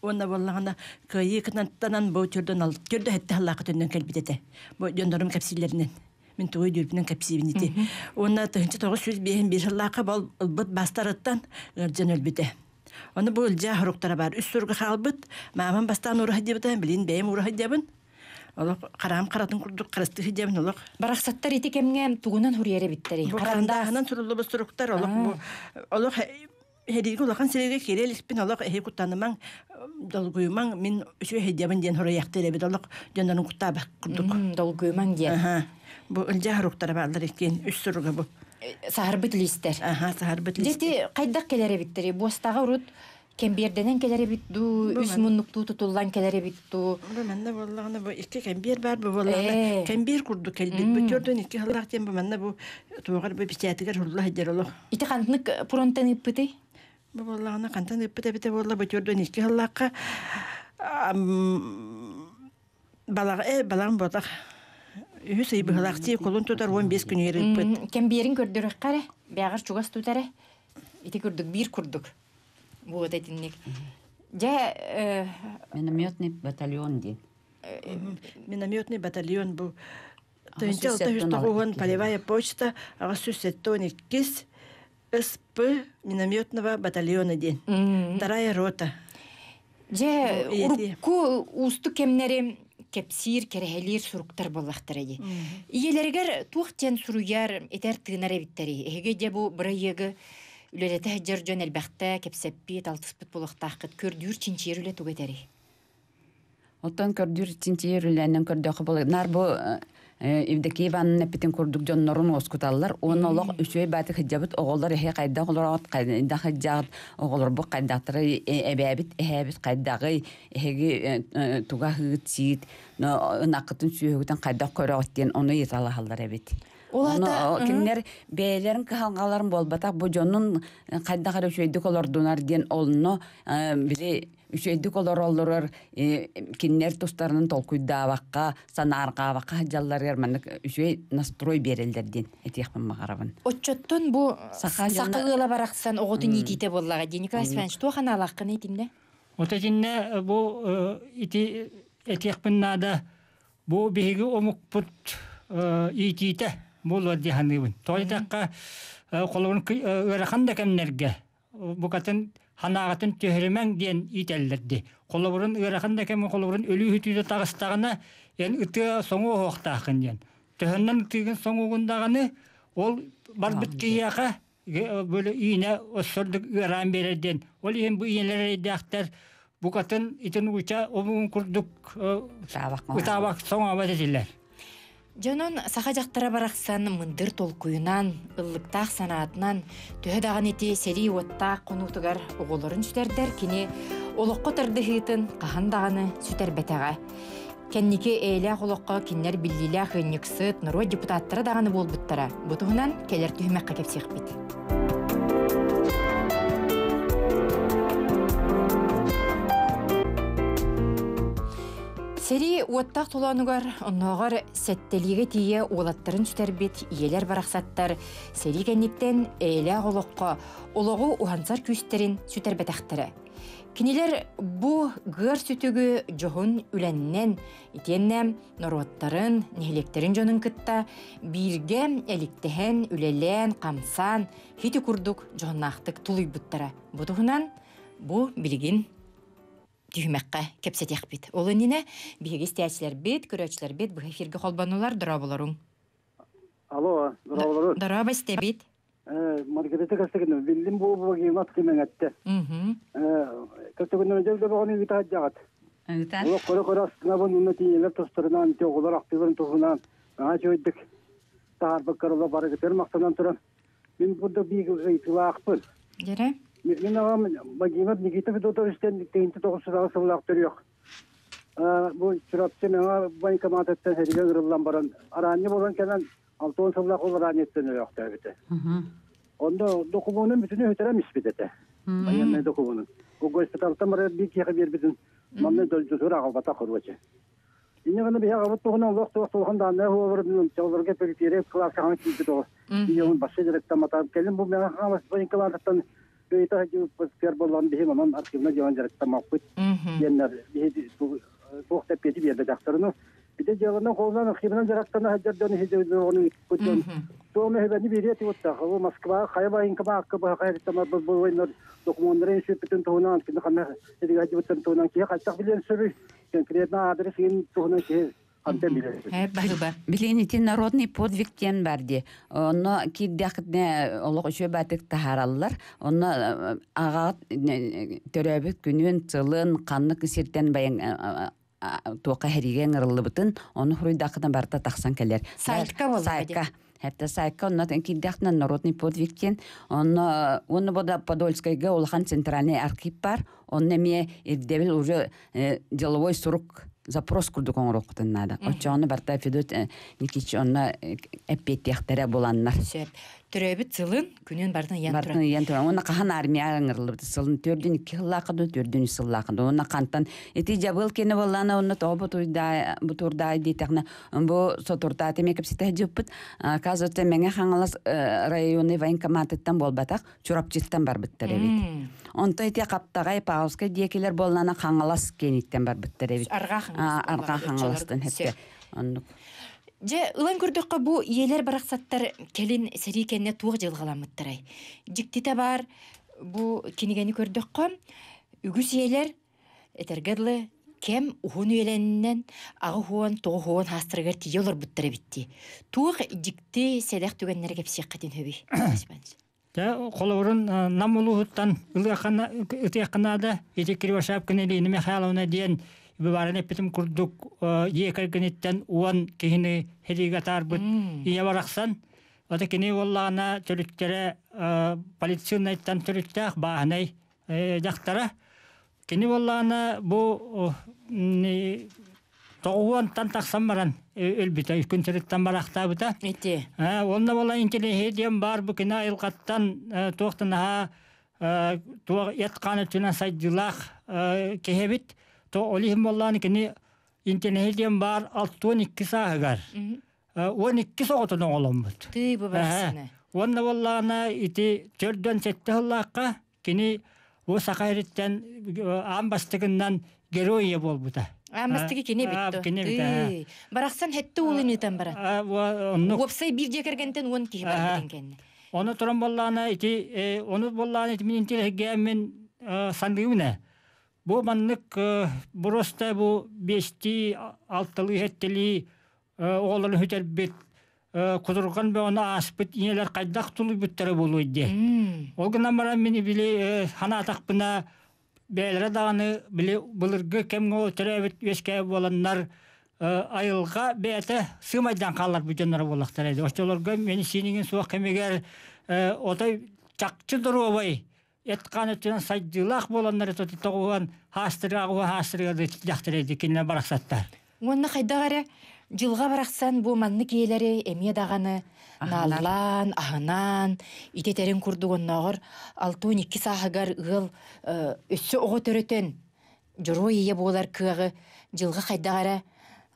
Уонна буоллаҕына кыайыы кынаттанан бу төрдөн төрдө сэттэ сыллаахха төннөн кэлбит этэ. Бу дьоннорум кэпсииллэринэн. Мин тугу өйдүүрбүнэн кэпсиибин ити. Уонна 1951 сыллаахха бол ылбыт бастарыттан ыалдьан өлбүтэ. Ону бу Ылдьаа хоруктара баар. Үс суруга хаалбыт. Маамам бастаан уура сылдьыбыта, билин бэйэм уура сылдьабын. Олох хараам харатын курдук харыстыы сылдьабын олох. Барахсаттар ити кэмҥэ тугунан суруйар эбиттэрий? Бу харандааһынан суруллубут суруктар олох бу олох Эһиги улахан сирэйгэ киирэ иликпин олох эһи куттанымаҥ, долгуйумаҥ, мин үчүгэй сылдьабын диэн хоруйахтыыр эбит олох дьоннорун куттаабат курдук. Долгуйумаҥ диэн. Бу ылдьаа хоруктара бааллар иккиэн үс суруга бу. Саһарбыт лиистэр. Аха, саһарбыт лиистэр. Дьэ хайдах кэлэр эбиттэрий? Буостаҕа урут кэмбиэрдэнэн кэлэр эбит дуу, үс муннуктуу тутуллан кэлэр эбит дуу? Бу манна буоллаҕына бу икки кэмбиэр баар бу буоллаҕына кэмбиэр курдук кэлбит. Бу төрдүн икки сыллаах диэн бу манна бу туоҕар бу печатыгар сурулла сылдьар олох. Ити хантнык фронтан ыыппытый? Бу буоллаҕына хантан ыыппыт эбитэ буолла бу 42 сыллаахха балаҕ балаҕан буотах үһүс ый быһылаахтыы кулун тутар 15 күнүгэр ыыппыт. Кэмбиэрин көрдөрөххө эрэ, бэҕэр чугас тут эрэ. Ити курдук биир курдук. Вот этинник. Дьэ Минометный батальон диэн. Минометный батальон бу 1609 полевая почта 872 СП минометного батальона диэн. Вторая рота. Дьэ, урукку уустук кэмнэри кэпсиир, кэрэһэлиир суруктар буоллахтара дии. Ийэлэригэр туох диэн суруйар, этэр-тыынар эбиттэрий? Эһиги дьэ бу бырайыагы үлэлэтэ сылдьар дьон элбэхтэ кэпсэппит, алтыспыт буолуохтааххыт. Көрдүүр, чинчийэр үлэ тугу этэрий? Оттон көрдүүр чинчийэр үлэнэн көрдөххө буолар. Наар бу Евдокия Ивановна эппитин курдук дьоннорун уоскуталлар уонна олох үчүгэй бааты кыдьабыт оҕолор эһи хайдах олороҕут хайдах ыдьаҕыт оҕолорбут хайдахтара эбээбит эһээбит хайдаҕый эһиги туга аһыыт сиит ынаххытын сүөһүгүтүн хайдах көрөҕүт диэн ону ыйыталаһаллар эбит. Ол Ону кинилэр бэйэлэрин кыһалҕаларын буолбатах бу дьонун хайдах эрэ үчүгэйдик олордунар диэн онно били үчүгэйдик олороллорор кинилэр тустарынан толкуйдаабакка санаарҕаабакка сылдьалларыгар маннык үчүгэй настрой биэрэллэр диэн этиэхпин баҕарабын. Оччоттон бу Саха саха дьоно ыала барахсан оҕотун иитиитэ буоллаҕа дии Николай Степанович туох анаалааххын итиннэ? Вот итиннэ бу ити этиэхпин наада бу биһиги омукпут иитиитэ буолуо дии саныыбын. Тоҕо диэтэххэ холобурун ыарахан да кэмнэргэ букатын ханаҕатын түһэримэҥ диэн иитэллэр дии. Холобурун ыарахан да кэм холобурун өлүү үтүүтэ таҕыстаҕына эн ытыа соҥуо оһуохтааххын диэн. Төһөннөн ытыыгын соҥугун даҕаны ол барбыт киһиэхэ бөлө иинэ өссөрдүк ыараан биэрэр диэн. Ол иһин бу иинэлэр эрэйдээхтэр букатын итин ууча омугун курдук ытаабак соҥообот этилэр. Дьонон саха дьахтара барахсан мындыр толкуйунан, ыллыктаах санаатынан төһө даҕаны ити сэрии уоттаах хонуутугар оҕолорун сүтэрдэр кини олоххо тардыһыытын хаһан даҕаны сүтэрбэтэҕэ. Кэнники эйэлээх олоххо кинилэр биллиилээх ыанньыксыт, норуот депутаттара даҕаны буолбуттара. Бу туһунан кэлэр түһүмэххэ кэпсиэхпит. Сэрии уоттаах толоонугар оннооҕор сэттэлиигэ тиийэ уолаттарын сүтэрбит ийэлэр барахсаттар сэрии кэнниттэн эйэлээх олоххо олоҕу уһансар күүстэрин сүтэрбэтэхтэрэ. Кинилэр бу гыар сүтүгү дьоһун үлэннэн, итиэннэ норуоттарын, нэһилиэктэрин дьонун кытта бииргэ эликтэһэн, үлэлээн, хамсаан, хити курдук дьоһуннаахтык тулуйбуттара. Бу туһунан бу билигин түһүмэххэ кэпсэтиэхпит. Ол иннинэ биһиги истээччилэрбит, көрөөччүлэрбит быһа эфиргэ холбонулар, дорооболоруҥ. Алло, дорооболорун. Дорообо истэбит. Маргарита Костыгина, биллим бу богимат кимэҥэтте. Костыгина дьэл добоҕону ыыта сылдьаҕыт. Ыытан. Олох көрө-көрө астынабын уонна тиийэлэр тустарынан, оҕолор актыыларын туһунан наһаа үчүгэйдик таһаарбыккар ола барыгытыгар махтанан туран мин бурда биир ыйытыылаахпын. Дьэрэ. Мин аҕам Владимир Никита Федотовичтан 1998 сыллаах төрүөх. Бу Чурапчы Мэҥэ военкоматыттан сэриигэ ыҥырыллан баран араанньы буолан кэлэн 60 сыллаах ол араанньыттан өлөөхтөөбүтэ. Онно докумуонун бүтүнү сүтэрэн испит этэ. Военный докумуонун. Бу госпитальтан барар биир киһиэхэ биэрбитин манна дойдутугар аҕалбатах короче. Инньэ гына биһи аҕабыт туһунан олох туох туохан дааннай уобаратын чоллорго пөрүтиэрэ кылааска киирбит оҕо. Ийэбин башша дьарыктамматаҕым. Кэлин бу Мэҥэ Хаҥалас военкоматыттан бэйэтэ сылдьыбыппыт буоллаҕын биһи онон архивна дьиэҕин дьарыктаммаппыт диэннэр биһи туох да эппиэти биэрбэтэхтэр. Ити дьыаланы холунан архивынан дьарыктана сылдьар дьон иһи дьону ыыппыт дьон туом эһэбэни биэриэ этибуттах. Ол Москва хайа военкомакка быһа хайыттамар бу военнар докумуоннарын сүппүтүн туһунан кини ханна сиргэ сылдьыбыттарын туһунан киһи хайдах билиэн сөбүй? Конкретно адрес иһин туһунан киһи хантан билэр? Баһыба. Билигин ити народный подвиг диэн бар дии. Онно киирдэххитинэ олох үчүгэй баатык таһаараллар. Онно аҕаҕыт төрөөбүт күнүн, сылын, ханнык сиртэн байан туохха эһэриигэ ыҥырыллыбытын, ону хуруйдааххытына барыта тахсан кэлэр. Сайтка буолла Сайтка. Хэтте сайтка онно киирдэхтинэ народный подвиг диэн. Онно уонна бу Подольскайга улахан центральный архив бар. Онно эмиэ ирдэбил уже деловой сурук запрос курдук оҥоруоххутун наада. Оччоҕуна барыта Федот Никитич онно эппиэттиэхтэрэ буланнар. Сөп. Төрөөбүт сылын, күнүн барытын ыйан туран. Барытын ыйан туран. Уонна хаһан армия ыҥырыллыбыт сылын төрдүн икки сыллаахха дуу, төрдүн үс сыллаахха дуу. Уонна хантан ити дьабыл кини буоллаана уонна тоҕо бутуурдаай диэтэхинэ бу сотуртааты эмиэ кэпсэтэ сылдьыбыппыт. Оказывается, Мэҥэ Хаҥалас районный военкоматыттан буолбатах, Чурапчыттан барбыттар эбит. Онто ити Хаптаҕай, Павловскай диэкилэр буоллаана Хаҥалас киэниттэн барбыттар эбит. Арҕаа Хаҥалас. Арҕаа Хаҥаластан хэппэ. Оннук. Дьэ, ылан көрдөххө, бу ийэлэр барахсаттар кэлин сэрии кэннэ туох дьылҕаламмыттарай? Дьиктитэ баар, бу кинигэни көрдөххө, үгүс ийэлэр этэргэ дылы кэм уһун үйэлэннэн аҕыс уон тоҕус уон хаастарыгар тиийэ олорбуттар эбит дии. Туох дьикти сэдэх түгэннэри кэпсиэххитин сөбүй? Дьэ, холобурун Нам улууһуттан ылыаххына, ытыахха наада. Ити Кривошапкина Елена Михайловна диэн. Быбарын эппитим курдук дьиэ кэргэниттэн уон киһини сэриигэ атаарбыт ийэ барахсан. Ата кини буоллаҕына төрүттэрэ полицейнайтан төрүттээх бааһынай дьахтара. Кини буоллаҕына бу тоҕуонтан тахсан баран өлбүтэ, күн сириттэн барахтаабыта. Ити. Уонна буолла интеллигенция диэн баар бу кини айылҕаттан туох да наһаа туох эт-хаан өттүнэн сайдыылаах киһи эбит. То ол иһин буоллаҕына кини интеллигенция диэн баар 62 сааһыгар 12 оҕотун оҕоломмут. Тыы бу барсыны. Уонна буоллаҕына ити 47 сыллаахха кини бу саха сириттэн аан бастакыннан герой ийэ буолбута. Аан бастакы кини эбит Кини эбит. Барахсан хетте уулун ыытан баран. Оннук. Уопсай биир дьиэ кэргэнтэн уон киһи барбытын кэннэ. Ону туран буоллаҕына ити ону буоллаҕына ити мин интеллигиэммин саныыбын ээ. Бу маннык просто бу биэстии алталыы сэттэлии оҕолорун сүтэрбит кутурҕан бөҕөнү ааспыт ийэлэр хайдах тулуйбуттара буолуой диэ. Ол гынан баран мин били санаатахпына бэйэлэрэ даҕаны били былыргы кэмҥэ төрөөбүт үөскээбит буоланнар айылҕа бэйэтэ сыымайдаан хаалларбыт дьонноро буоллахтара ди. Оччолорго медицинигин суох кэмигэр отой чахчы доруобай эт-хаан өттүнэн сайдыылаах буоланнар тоҕуһан хаастырыга хаастырыга дьахтар кинилэр барахсаттар. Уонна хайдах эрэ дьылҕа барахсан бу маннык ийэлэри эмиэ даҕаны нааллаан, аһынаан, итэтэрин курдук оннооҕор 62 сааһыгар ыал өссө оҕо төрөтөн дьоруой ийэ буолар кыаҕы дьылҕа хайдах эрэ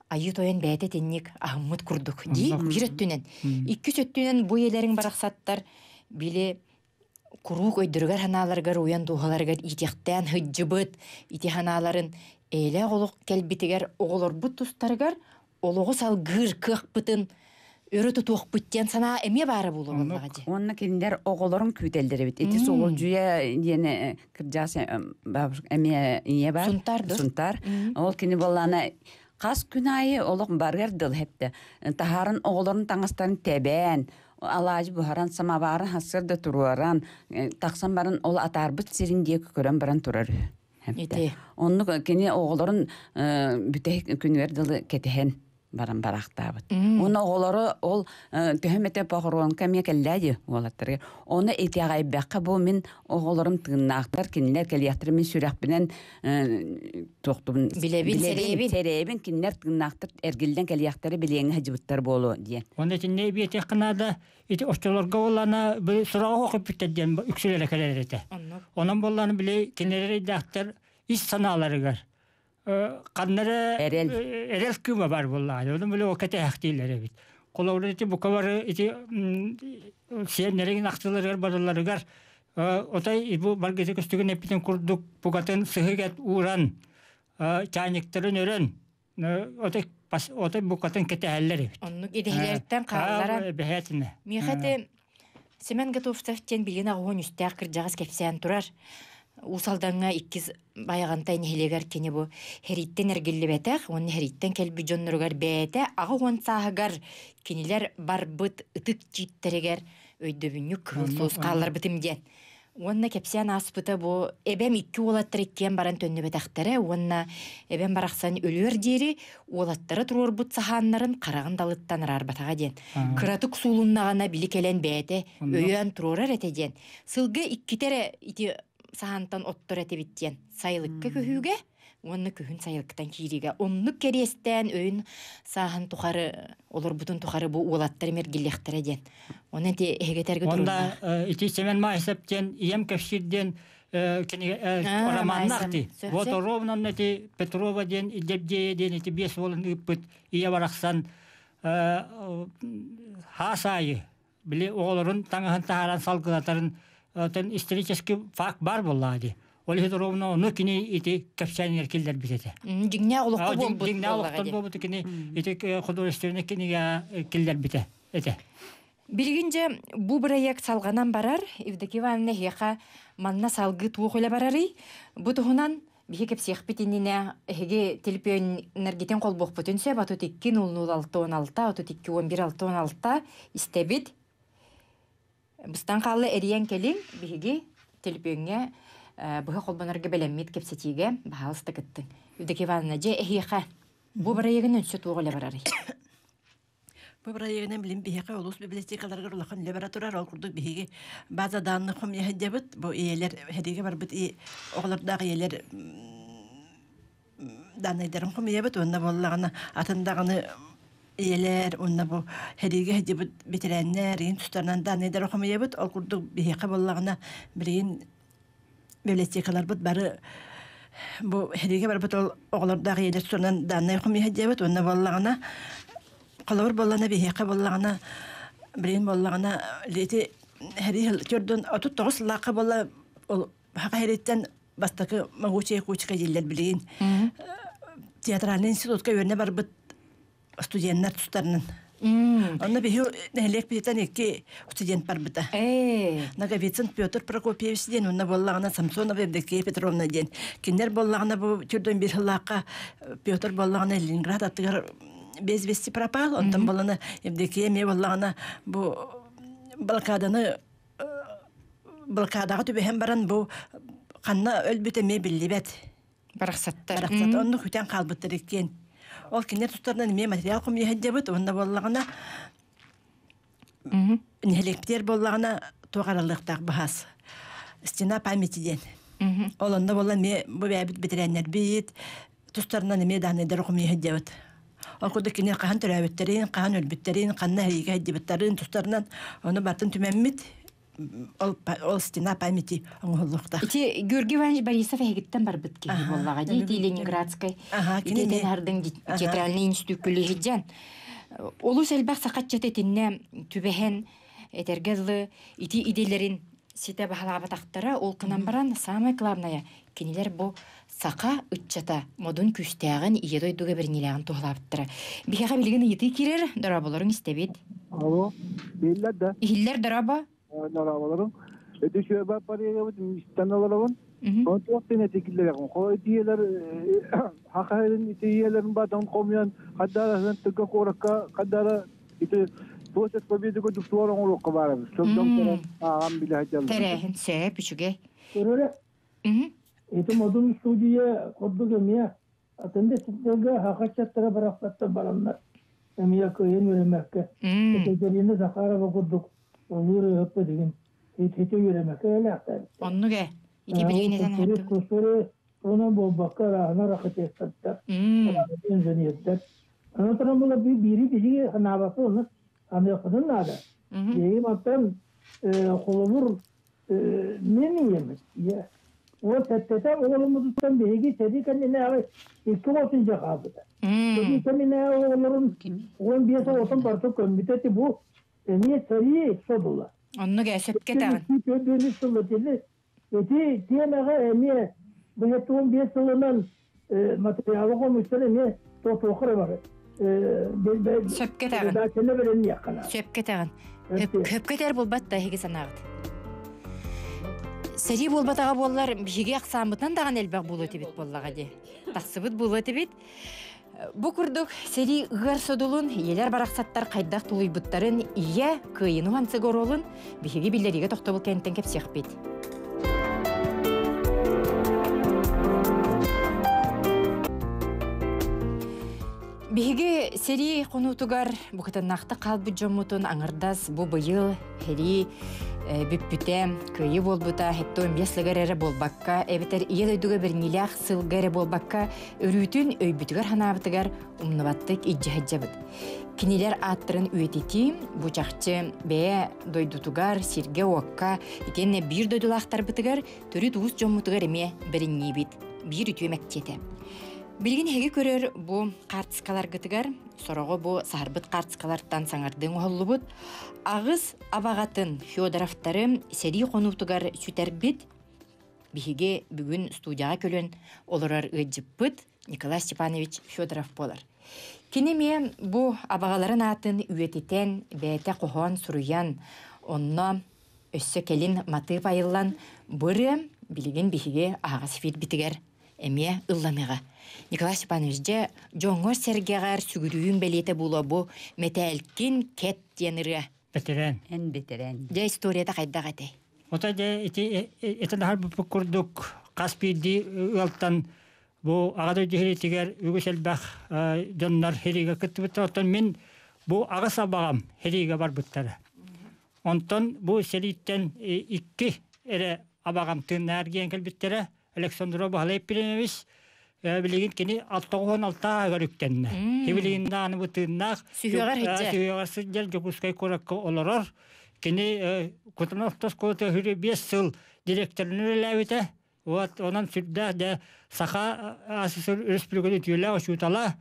айыы тойон бэйэтэ итинник аһыммыт курдук дии биир өттүнэн. Иккис өттүнэн бу ийэлэриҥ барахсаттар били куруук өйдөрүгэр-санааларыгар уйан дууһаларыгар иитиэхтээн сылдьыбыт ити санааларын эйэлээх олох кэлбитигэр оҕолорбут тустарыгар олоҕу салгыыр кыахпытын өрө тутуохпут диэн санаа эмиэ баара буолуо буоллаҕа дии. Уонна кинилэр оҕолорун күүтэллэр эбит. Ити Суолдьуйа диэн кырдьаҕас бабушка эмиэ ийэ бар. Сунтаар да? Сунтаар. Ол кини буоллаана хас күн аайы олох барыар дыл хепте. Таһарын оҕолорун таҥастарын тэбээн, алаадьы буһаран, самоварын хассыр да туруоран, тахсан баран ол атаарбыт сирин диэки көрөн баран турар Ити. Оннук кини оҕолорун бүтэһик күнүгэр дылы кэтэһэн баран бараахтаабыт. Уонна оҕолоро ол төһө эмэтэ похоронка эмиэ кэллээ дии уолаттарыгар. Ону итэҕэйбэххэ бу мин оҕолорум тыыннаахтар, кинилэр кэлиэхтэрэ мин сүрэхпинэн туохтубун билэбин, сэрэйэбин. Сэрэйэбин, кинилэр тыыннаахтар эргиллэн кэлиэхтэрэ билиэҥҥэ сылдьыбыттар буолуо диэн. Онно итиннэ эбиэтиэххэ наада ити оччолорго буоллаана били сураҕа көппүттэр диэн үксүлэрэ кэлэр этэ. Онон буоллаана били кинилэр эйдээхтэр ис санааларыгар ханна эрэ эрэл эрэл кыыма бар буоллаҕа. Онон били ол кэтэһэхтииллэр эбит. Холобура ити бука бары ити сиэннэрин ахтыларыгар барыларыгар отой бу баргыты көстүгүн эппитин курдук букатын сыһыгат ууран чайниктарын өрөн отой отой букатын кэтэһэллэр эбит. Оннук идэһилэриттэн хаалларан. Бэһээтинэ. Миэхэ ити Семен Готовцев диэн билигин аҕыһын үстээх кырдьаҕас кэпсээн турар. Уус Алдаҥҥа иккис Байаҕантай нэһилиэгэр кини бу сэрииттэн эргиллибэтэх уонна сэрииттэн кэлбит дьонноругар бэйэтэ 80 сааһыгар кинилэр барбыт ытык тииттэригэр өйдөбүнньүк кыһыл суос хаалларбытым диэн. Уонна кэпсээн ааспыта бу эбэм икки уолаттар иккиэн баран төннүбэтэхтэрэ уонна эбэм барахсан өлүөр диэри уолаттара туруорбут саһааннарын хараҕын далыттан араарбатаҕа диэн. Кыратык суулуннаҕына били кэлэн бэйэтэ өйөөн туруорар этэ диэн. Сылга иккитэ эрэ ити саһаантан оттор этибит диэн. Сайылыкка көһүүгэ уонна күһүн сайылыктан киириигэ оннук кэриэстээн өйүн сааһын тухары олорбутун тухары бу уолаттар мэргиллиэхтэрэ диэн. Онон ити эһигэтэргэ Онда ити Семен Маайсап диэн ийэм кэпсиир диэн кинигэ романнаах Вот ровно ити Петрова диэн Дебдея диэн ити биэс уолун ыыппыт ийэ барахсан хаас аайы били оҕолорун таҥаһын таһааран салгылатарын исторический факт бар буоллаҕа дии. Ол иһин ровно ону кини ити кэпсээнигэр киллэрбит этэ. Дьиҥнээх олоххо буолбут. Дьиҥнээх олохтон буолбут кини ити художественный кинигэ киллэрбитэ этэ. Билигин дьэ бу бырайыак салҕанан барар. Евдокия Ивановна эһиэхэ манна салгыы туох үлэ барарый? Бу туһунан биһи кэпсиэхпит иннинэ эһиги телепиөннэргитин холбуохпутун сөп 32 00 6 16 32 11 6 16 истэбит. Быстан хаалла эрийэн кэлиҥ биһиги телепиөҥҥэ. быһа холбонорго бэлэммит кэпсэтиигэ баһаалыста кыттыҥ. Евдокия Ивановна, дьэ эһиэхэ бу бырайыагын өссө туох үлэ барарый? Бу бырайыагынан билим биһиэхэ улуус библиотекаларыгар улахан үлэ бара турар. Ол курдук биһиги база данных хомуйа бу ийэлэр хэдигэ барбыт оҕолордоох ийэлэр данныйдарын хомуйабыт уонна буоллаҕына атын даҕаны ийэлэр уонна бу хэдигэ хэдибит бэтэрээннэр иин тустарынан данныйдары хомуйабыт. Ол курдук биһиэхэ буоллаҕына билигин библиотекаларбыт бары бу хэригэ барбыт ол оҕолордоох ийэлэр тустарынан даннай хомуйа диэбит уонна буоллаҕына холобур буоллаҕына биһиэхэ буоллаҕына билигин буоллаҕына ити хэрии төрдүн 39 сыллаахха буолла ол хаха хэриттэн бастакы могучая кучка дииллэр билигин театральный институтка үөрэнэ барбыт студеннар тустарынан. Онно биһи нэһилиэк биһитэн икки студент барбыта. Наговицын Петр Прокопьевич диэн, онно буоллаҕына Самсонова Евдокия Петровна диэн. Кинилэр буоллаҕына бу түрдөн бир сыллаахха Петр буоллаҕына Ленинград аттыгар без вести пропал, онтон буоллаҕына Евдокия эмиэ буоллаҕына бу блокаданы блокадаҕа түбэһэн баран бу ханна өлбүт эмиэ биллибэт. Барахсаттар. Барахсат. Онно күтэн хаалбыттар иккиэн. Ол кинилэр тустарынан эмиэ материал хомуйа сылдьабыт. Уонна буоллаҕына нэһилиэктэр буоллаҕына туох аралыахтаах баһаас. Стена памяти диэн. Ол онно буолла эмиэ бу бэйэбит бэтэрээннэрбит тустарынан эмиэ дааннайдары хомуйа сылдьабыт. Ол курдук кини хаһан төрөөбүттэрин, хаһан өлбүттэрин, ханна эһиги сылдьыбыттарын тустарынан ону бартын түмэммит ол, ол стена памяти оҥоһуллуохтаах. Ити Георгий Иванович Борисов эһигиттэн барбыт киһи буоллаҕа дии, ити Ленинградскай итиэтэн хардыҥ театральный институт күлүһүдьэн. Олус элбэх сахаччыт итиннэ түбэһэн этэргэ дылы ити идэлэрин ситэ баһылаабатахтара ол гынан баран самое главное кинилэр бу саха ыччата модун күүстээҕин ийэ дойдуга бэриниилээҕин туһалаабыттара. Биһиэхэ билигин ыйытыы киирэр, дорооболоруҥ истэбит. Алло, иһиллэр да? Иһиллэр дорообо. Дорооболоруҥ. Эти үчүгэй парыгабыт истэн олоробун. Туох тин этикиллэрин хо итиелер хахайын итиелерин батан хомуйан хаддара тыга куоракка хаддара ити площадь Победы курдук суор оҥоруохха баар эбит. Сылдьан ааҕан билэ сылдьаллар. Тэрээһин сөп үчүгэй. Көрөрө. Ити модун студия курдук эмиэ атын да сирдэргэ хахаччаттара барахсаттар бараннар эмиэ кыайан үөрэммэккэ Екатерина Захарова курдук олуур ыһыппыт игин ити үөрэммэккэ элээхтээбиттэр. Оннук ээ. Ити билигин этэн аһардыбыт. Кустары онон буолбакка арааһына архитектордар, инженердэр. Аны туран була биири биһиги санаабаппыт ону аныахпытын наада. Биһиги мантан холобур мен ийэм ийэ уон сэттэтэ оҕолорбутуттан биһиги сэрии кэннинээҕи икки оҕотун дьэ хаалбыта. Сэрии кэннинээҕи оҕолорун 15 оҕотун барыта көммүтэ ити бу эмиэ сэрии содула. Оннук ээ сөпкө этэҕин. Төрдүөнүс сыл итини ити тиэмэҕэ эмиэ 15 сылынан материалы хомуйсан эмиэ тотуохха эрэ бар. Сөпкө этэҕин. Редакцияны бэлэмниэххэ наада. Сөпкө этэҕин. Хөпкө этэр буолбат да эһиги санааҕыт. Сэрии буолбатаҕа буоллар, биһиги ахсааммытынан даҕаны элбэх буолуо этибит буоллаҕа дии. Тахсыбыт буолуо этибит. Бу курдук сэрии ыар содулун, ийэлэр барахсаттар хайдах тулуйбуттарын ийэ кыайыны уһансыга оруолун биһиги биллэриигэ тохтобул кэнниттэн кэпсиэхпит. Биһиги сэрии хонуутугар букатыннаахтык хаалбыт дьоммутун аҥардас бу быйыл сэрии бүппүтэ, кыайыы буолбута 75 сылыгар эрэ буолбакка, эбэтэр Ийэ дойдуга бэриниилээх сылга эрэ буолбакка, өрүүтүн өйбүтүгэр-санаабытыгар умнубаттык илдьэ сылдьабыт. Кинилэр ааттарын үйэтитии бу чахчы бэйэ дойдутугар, сиргэ-уокка, итиэннэ биир дойдулаахтарбытыгар, төрүт уус дьоммутугар эмиэ бэринниибит. Биир үтүө мэктиэтэ. Билигин эһиги көрөр бу хаартыскаларгытыгар сороҕо бу саһарбыт хаартыскалартан саҥардыы оҥоһуллубут аҕыс абаҕатын Федоровтары сэрии хонуутугар сүтэрбит биһиги бүгүн студияҕа көлөн олорор ыалдьыппыт Николай Степанович Федоров буолар. Кини эмиэ бу абаҕаларын аатын үйэтитэн, бэйэтэ хоһоон суруйан, онно өссө кэлин матыып айыллан, бу ырыа билигин биһиги аһаҕас эфирбитигэр эмиэ ылланыаҕа. Николай Степанович, дьэ, дьоҥҥор-сэргэҕэр сүгүрүйүүҥ бэлиэтэ буолуо бу «Мэтээлкин кэт» диэн ырыа. Бэтэрээн. Эн бэтэрээн. Дьэ, историята хайдах этэй? Ота де ити этен бу курдук хас биирдии ыалтан бу Аҕа дойду сэриитигэр үгүс элбэх дьоннор сэриигэ кыттыбыттар. Оттон мин бу аҕыс абаҕам сэриигэ барбыттара. Онтон бу сэрииттэн икки эрэ абаҕам тыыннаах эргийэн кэлбиттэрэ. Александров Баһылай Епифанович билигин кини 96 ааһыгар үктэннэ. Билигин даҕаны бу тыыннаах сүһүөҕэр сылдьар Дьокуускай куоракка олорор. Кини Кутанов оскуолата 25 сыл директорынан үлэлээбитэ. Вот онон сүрдээх дьэ Саха АССР Өрөспүүбүлүкэтин үтүөлээх учуутала,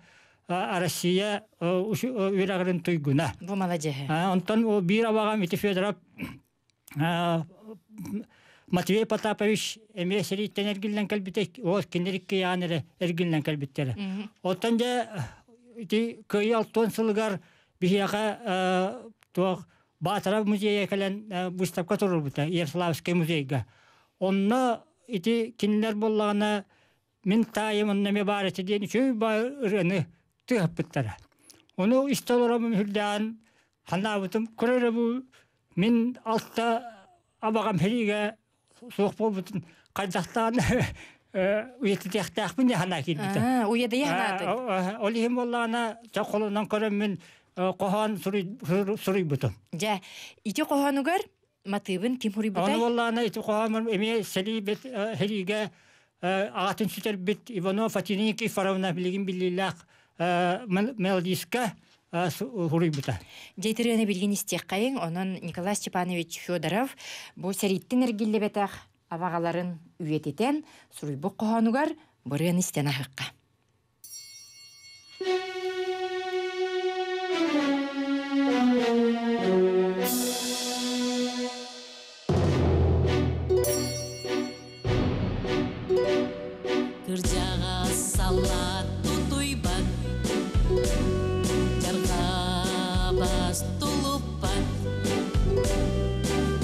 Россия үөрэҕирин туйгуна. Бу маладьыһы. Онтон биир абаҕам ити Федоров Матвей Потапович эмиэ сэрииттэн эргиллэн кэлбитэ, ол кинилэр икки эрэ эргиллэн кэлбиттэрэ. Оттон дьэ ити Кыайыы алтан сылыгар биһиэхэ туох Баатара музейа кэлэн выставка туруорбута Ярославскай музейга. Онно ити кинилэр буоллаҕына мин таайым онно эмиэ баар этэ диэн үчүгэй баай ырыаны тыаһаппыттара. Ону истэ олороммун үрдээн санаабытым көрөр бу мин алта абаҕам сэриигэ суох буолбутун хайдахтаан үйэтитиэхтээхпин диэн санаа киирбитэ. Уйадыйа санаатын. Ол иһин буоллаҕына чэ холунан көрөммүн хоһоон суруйбутум. Дьэ, ити хоһоонугар матыыбын ким суруйбутай? Ону буоллаҕына ити хоһооммун эмиэ сэлиибит сэриигэ аҕатын сүтэрбит Иванов Фатина Никифоровна билигин биллиилээх мелодистка суруйбута. Дьэ итирыаны билигин истиэххэйиҥ, онон Николай Степанович Федоров бу сэрииттэн эргиллибэтэх абаҕаларын үйэтитэн суруйбут хоһоонугар бырыан истэн аһыахха. Кырдьаҕас саллаат тутуйбат, Дьарҕабас тулуппат,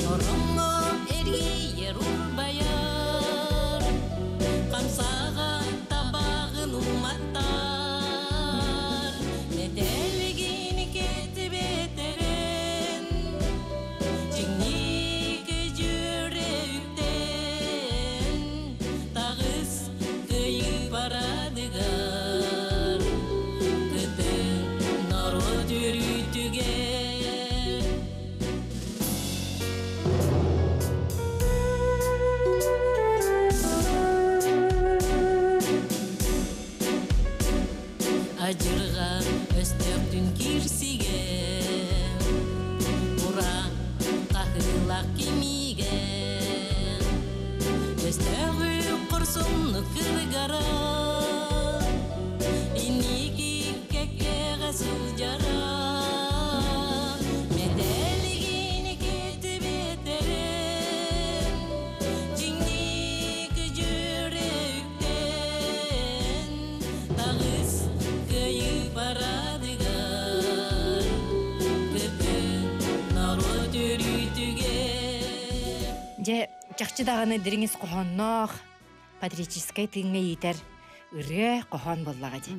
Ороҥҥо эргийэр урбайар, Хамсаҕа табаҕын уматтар, Мэтээлигин кэтибэтэрин, Чиҥник дьүөрэ үктэн, Таҕыс кыайыы парадыгар, Кытын норуот үөрүүтүгэр. Адьырҕа өстөөхтүн киирсигэ, Ура, хаһыылаах кимиигэ, Өстөөҕү хорсуннук кыргара, Инники кэккэҕэ сылдьара, Мэтээлигин кэтибэтэрин, Чиҥник дьүөрэ үктэн, Таҕыс кыайыы парадыгар, Кытын норуот өрүүтүгэр. Дьэ, чахчы даҕаны дириҥ ис хоһоонноох, патриотическай тыыҥҥа иитэр ырыа хоһоон буоллаҕа дии.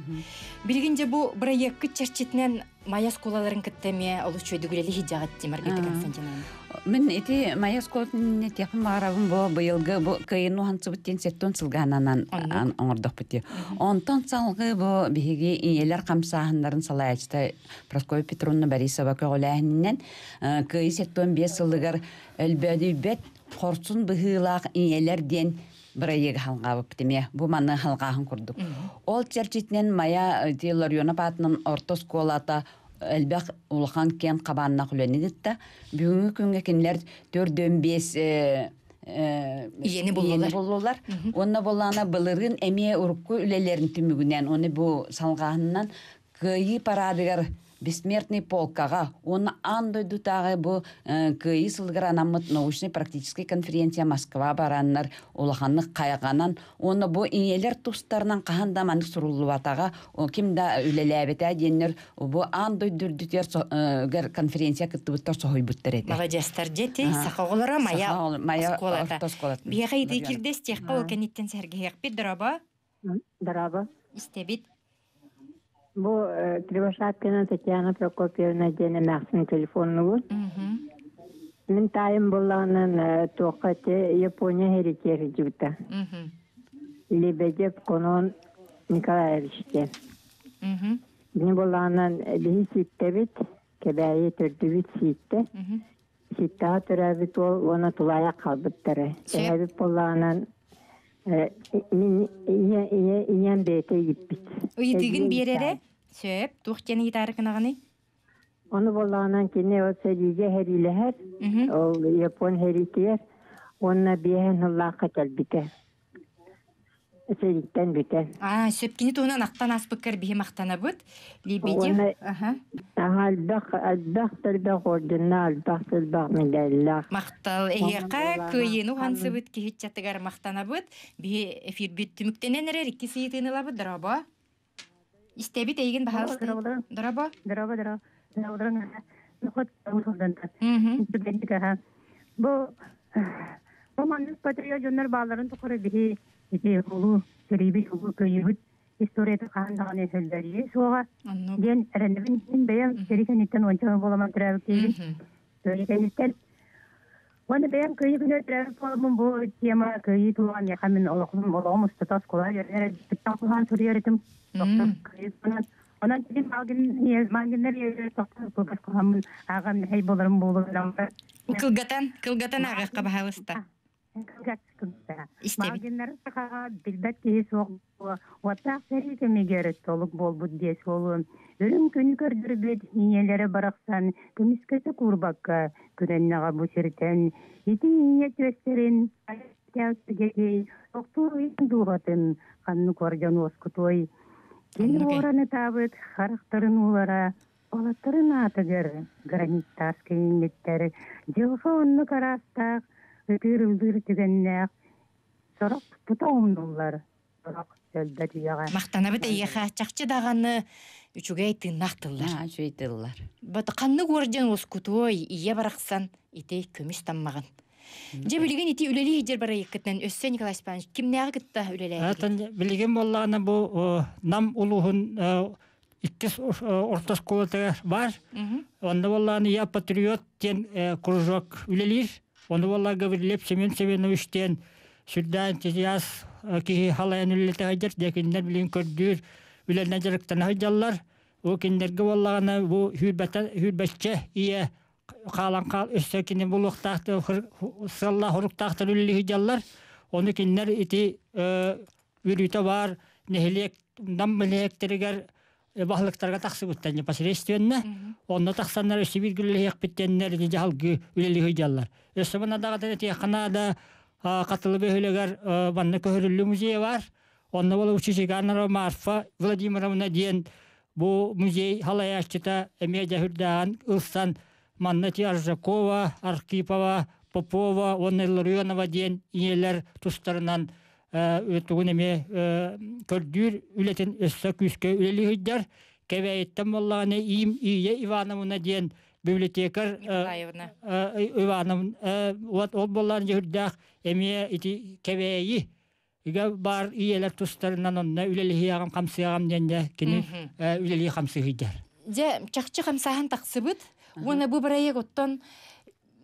Билигин дьэ бу бырайыаккыт чэрчитинэн Майа оскуолаларын кытта эмиэ олус үчүгэйдик үлэлии сылдьаҕыт дии Маргарита Константиновна. Мин ити Майа оскуолатын этиэхпин баҕарабын бу быйылгы бу кыайын уһансыбыт диэн сеттон сылгаананан оҥордохпут дии. Онтон салгыы бу биһиги ийэлэр хамсааһыннарын салайааччыта Прасковья Петровна Борисова көҕүлээһининэн кыайыы 75 сылыгар өлбөөдүйбэт хорсун быһыылаах ийэлэр диэн бырайыагы халҕаабыппыт эмиэ бу маны халҕааһын курдук. Ол чэрчитинэн Майа ити Ларионов аатынан орто оскуолата элбэх улахан киэн хабааннаах үлэни ыытта. Бүгүҥҥү күҥҥэ кинилэр 4-5 Ийэни буллулар. буллулар. Уонна буоллаҕына былырыын эмиэ урукку үлэлэрин түмүгүнэн, уонна бу салҕааһынынан Кыайыы парадыгар Бессмертный полкаҕа уонна аан дойдутааҕы бу Кыайыы сылыгар анаммыт научнай-практическай конференция Москва бараннар улаханнык хайҕанан уонна бу ийэлэр тустарынан хаһан да маннык суруллубатаҕа, ким да үлэлээбэтэ диэннэр бу аан дойду үрдүтүгэр конференция кыттыбыттар соһуйбуттар этэ. Маладьыастар дьэти саха оҕолоро Майа оскуолата. Биһиэхэ ити кирдэс тиэххэ ол кэнниттэн сэргэһиэхпит дорообо. Дорообо. Истэбит. Бу Кривошапкина Татьяна Прокопьевна диэн эмээхсин телефоннубут. Мин таайым буоллаҕынан туохха те Япония хэритиэр дьыбыта. Лебедев Конон Николаевич диэн. Бини буоллаҕынан биһи сииттэбит, Кэбээйи төрдүбүт сииттэ. Сииттэҕэ төрөөбүт уол уонна тулаайах хаалбыттара. Эһэбит буоллаҕынан мин ийэ ийэ ийэм бэйэтэ ииппит. Ыйытыгын биэрэрэ сөп туох диэн ыйытаары гынаҕыный? Ону буоллаҕынан кини ол сэриигэ сэриилэһэр, ол Япон сэриитигэр уонна биэһэн сыллаахха кэлбитэ. Сэрииттэн бүтэн. Аа, сөп кини туһунан ахтан ааспыккар биһи махтанабыт. Лебедев. Уонна элбэх элбэх элбэх орденнаах, элбэх элбэх медаллаах. Махтал эһиэхэ кыайыыны уһансыбыт киһиччатыгар махтанабыт. Биһи эфирбит түмүктэнэн эрэр икки сыйытыыны ылабыт. Дорообо. Истэбит эйигин баһаалыста. Дорообо. Дорообо, дорообо. Бу бу маннык патриот дьоннор баалларын тухары биһи ити улуу сэриибит, улуу кыайыыбыт историята хаһан даҕаны өһөллөрүө суоҕа диэн эрэнэбин. Мин бэйэм сэрии кэнниттэн уонча буоламан төрөөбүт киһибин. Сэрии кэнниттэн уонна бэйэм кыайыы күнүгэр төрөөбүт буоламмын бу тема кыайыы туһугар миэхэ мин олоҕум олоҕум устата оскуола үөрэнэр куһаҕан суруйар этим. Кыайыы туһунан. Онон тилим мангиннар ийэлэр тохтор кылгас куһаммын ааҕан мэһэй боларым буолуо. Кылгатан, кылгатан ааҕыахха баһаалыста. Мангиннары сахаҕа билбэт киһи суох уоттаах сэрии кэмигэр толук буолбут диэс буолуо. Үрүҥ күн көрдөрбүт ийэлэрэ барахсан көмүскэтэ куурбакка күрэннэҕэ бу сиртэн ити ийэ түөстэрин тохтуур дууһатын ханнык ордьон уоскутуой. Кини уоран ытаабыт харахтарын уулара уолаттарын аатыгар граниттаас кэйиҥҥиттэр дьылҕа оннук араастаах ытыыр-ыллыыр түгэннээх сорох тута умнуллар сорох өлбөт үйэҕэ. Махтанабыт эйиэхэ чахчы даҕаны үчүгэй тыыннаах тыллар. Үчүгэй тыллар. Бат ханнык уордьан уоскутуой ийэ барахсан ити көмүс таммаҕын. Дьэ билигин ити үлэлии сылдьар барайыккытынан өссө Николай Степанович кимнээҕи кытта үлэлээбит? Билигин буоллаҕына бу Нам улууһун иккис орто оскуолатыгар баар. Онно буоллаҕына «Я патриот» диэн кружок үлэлиир. Ону буолла Гаврилев Семен Семенович диэн сүрдээх энтузиаст киһи халайан үлэлэтэ сылдьар. Дьэ кинилэр билигин көрдүүр үлэнэн дьарыктана сылдьаллар. Бу кинилэргэ буоллаҕына бу сүүрбэччэ ийэ хаалан хаал өссө кини булуохтаахтар сыаллаах хоруктаахтар үлэлии сылдьаллар. Ону кинилэр ити үөрүүтэ баар нэһилиэк Нам нэһилиэктэригэр баһылыктарга тахсыбыттар непосредственно. Онно тахсаннар өссө биир үлэлэһиэхпит диэннэр ити дьаһалгы үлэлии сылдьаллар. Өссө манна даҕатан этиэххэ наада Хатылы бөһүөлэгэр манна көһөрүллүү музейа бар. Онно буола Учичиганова Марфа Владимировна диэн бу музей халайааччыта эмиэ дьэһүрдээҕин ылсан манна ити Аржакова, Архипова, Попова уонна Илларионова диэн ийэлэр тустарынан тугун эмиэ көрдүүр үлэтин өссө күүскэ үлэлии сылдьар. Кэбээйиттэн буоллаҕына Иим Ия Ивановна диэн библиотекарь Николаевна. Ивановна ол буоллаҕына дьүһүрдээх эмиэ ити Кэбээйи Игэ баар ийэлэр тустарынан онно үлэлиһиэҕим хамсыаҕым диэн дьэ кини үлэлии хамсыы сылдьар. Дьэ чахчы хамсааһын тахсыбыт уонна бу проект оттон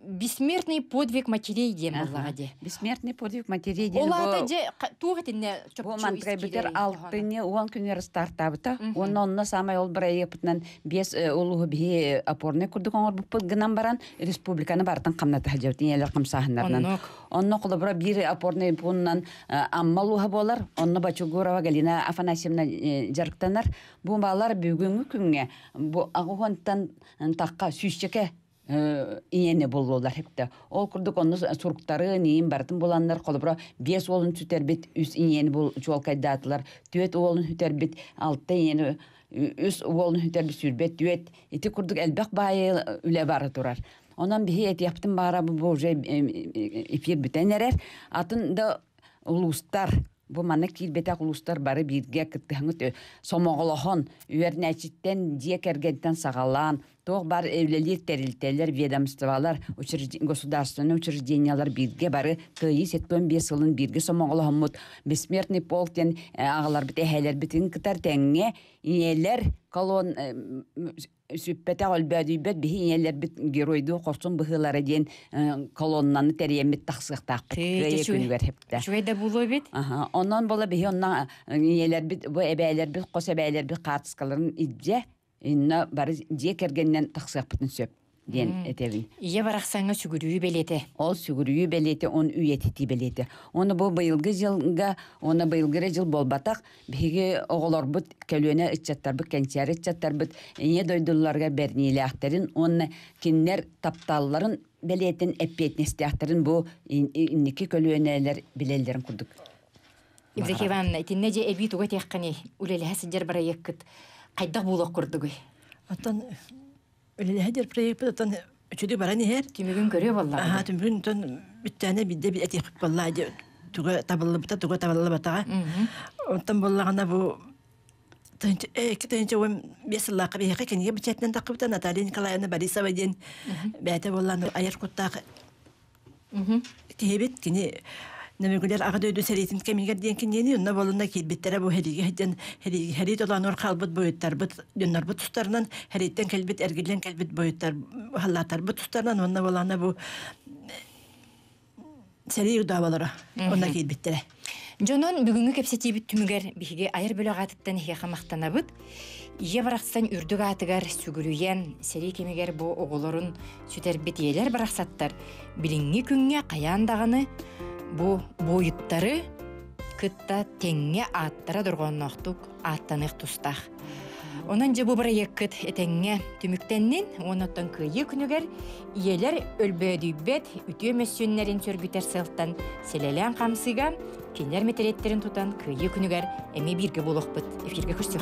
бессмертный подвиг матерей диэн буоллаҕа дии. Бессмертный подвиг матерей диэн Ол аата дьэ туох итиннэ чопчу Бу мантыкайбытыр алтыны уон күнүгэр стартаабыта. Уонна онно самай ол бырайыаппытынан биэс улууһу биһи опорный курдук оҥорбуппут гынан баран республиканы барытын хамната сылдьабыт ийэлэр хамсааһыннарынан. Онно холобура биир опорный пуунунан Амма улууһа буолар. Онно Бочугурова Галина Афанасьевна дьарыктанар. Бу баалар бүгүҥҥү күҥҥэ бу аҕыһуонтан тахха сүүсчэкэ ийэни буллулар хепте. Ол курдук онно суруктары ниин барытын буланнар холобура биэс уолун сүтэрбит үс ийэни бул чуолкайдаатылар. Түөт уолун сүтэрбит алта ийэни үс уолун сүтэрбит сүүрбэт түөт ити курдук элбэх баайы үлэ бара турар. Онон биһи этиэхпитин баара бу уже эфир бүтэн эрэр. Атын да улуустар бу манна киирбэтэх улуустар бары бииргэ кыттыһаҥыт сомоҕолоһон үөрнээччиттэн дьиэ кэргэнтэн саҕалаан. Туох бар үлэлиир тэрилтэлэр, ведомстволар, государственнай учреждениялар бииргэ бары Кыайыы 75 сылын бииргэ сомоҕолоһоммут Бессмертный полк диэн аҕаларбыт эһээлэрбитин кытар тэҥҥэ ийэлэр колон сүппэтэх өлбөөдүйбэт биһи ийэлэрбит геройдуу хорсун быһыылара диэн колоннаны тэрийэммит тахсыахтаахпыт кыайыы күнүгэр хэптэ. Үчүгэй да буолуо эбит. Онон бола биһи онно ийэлэрбит бу эбээлэрбит хос эбээлэрбит хаартыскаларын илдьэ инна бары дьиэ кэргэнинэн тахсыахпытын сөп диэн этэбин. Ийэ барахсаҥҥа сүгүрүйүү бэлиэтэ. Ол сүгүрүйүү бэлиэтэ, он үйэтитии бэлиэтэ. Оны бу быйылгы дьылга, уонна быйылгы эрэ дьыл буолбатах, биһиги оҕолорбут, көлүөнэ ыччаттарбыт, кэнчээри ыччаттарбыт ийэ дойдуларыгар бэриниилээхтэрин уонна кинилэр тапталларын бэлиэтин эппиэтинэстээхтэрин бу инники көлүөнэлэр билэллэрин курдук. Евдокия Ивановна, итиннэ дьэ эбии тугу этиэххиний? Үлэлэһэ сылдьар бырайыаккыт хайдах буолуох курдугуй? Оттон үлэлэһэ сылдьар проекпыт оттон үчүгэй баран иһэр. Түмүгүн көрүө буоллаҕа. Аха, түмүгүн оттон бүттээнэ биирдэ этиэхпит буоллаа дьэ туга табыллыбыта, туга табыллыбатаҕа. Оттон буоллаҕына бу 2015 сыллаахха биһиэхэ кинигэ бэчээтинэн таххыбыта Наталья Николаевна Борисова диэн бэйэтэ буоллаан айар куттаах киһибит кини Нөмүгүлэр Аҕа дойду сэриитин кэмигэр диэн киниэни онно буолунна киирбиттэрэ бу сэриигэ сылдьан сэрии толоонугар хаалбыт буойуттарбыт дьоннорбут тустарынан сэрииттэн кэлбит эргиллэн кэлбит буойуттар халлааттарбыт тустарынан уонна буолаана бу сэрии удаабалара онно киирбиттэрэ. Дьонон бүгүҥҥү кэпсэтиибит түмүгэр биһиги айар бөлөх аатыттан эһиэхэ махтанабыт. Ийэ барахсан үрдүк аатыгар сүгүрүйэн, сэрии кэмигэр бу оҕолорун сүтэрбит ийэлэр барахсаттар билиҥҥи күҥҥэ хайаан даҕаны бу буойуттары кытта тэҥҥэ ааттара дорҕоонноохтук ааттаныах тустаах. Онон дьэ бу бырайыаккыт этэҥҥэ түмүктэннин уонна оттон Кыайыы күнүгэр ийэлэр өлбөөдүйбэт үтүө мөссүөннэрин сөргүтэр сыалтан сэлэлээн хамсыыга кинилэр мэтириэттэрин тутан Кыайыы күнүгэр эмиэ бииргэ буолуохпут. Эфиргэ көрсүөх.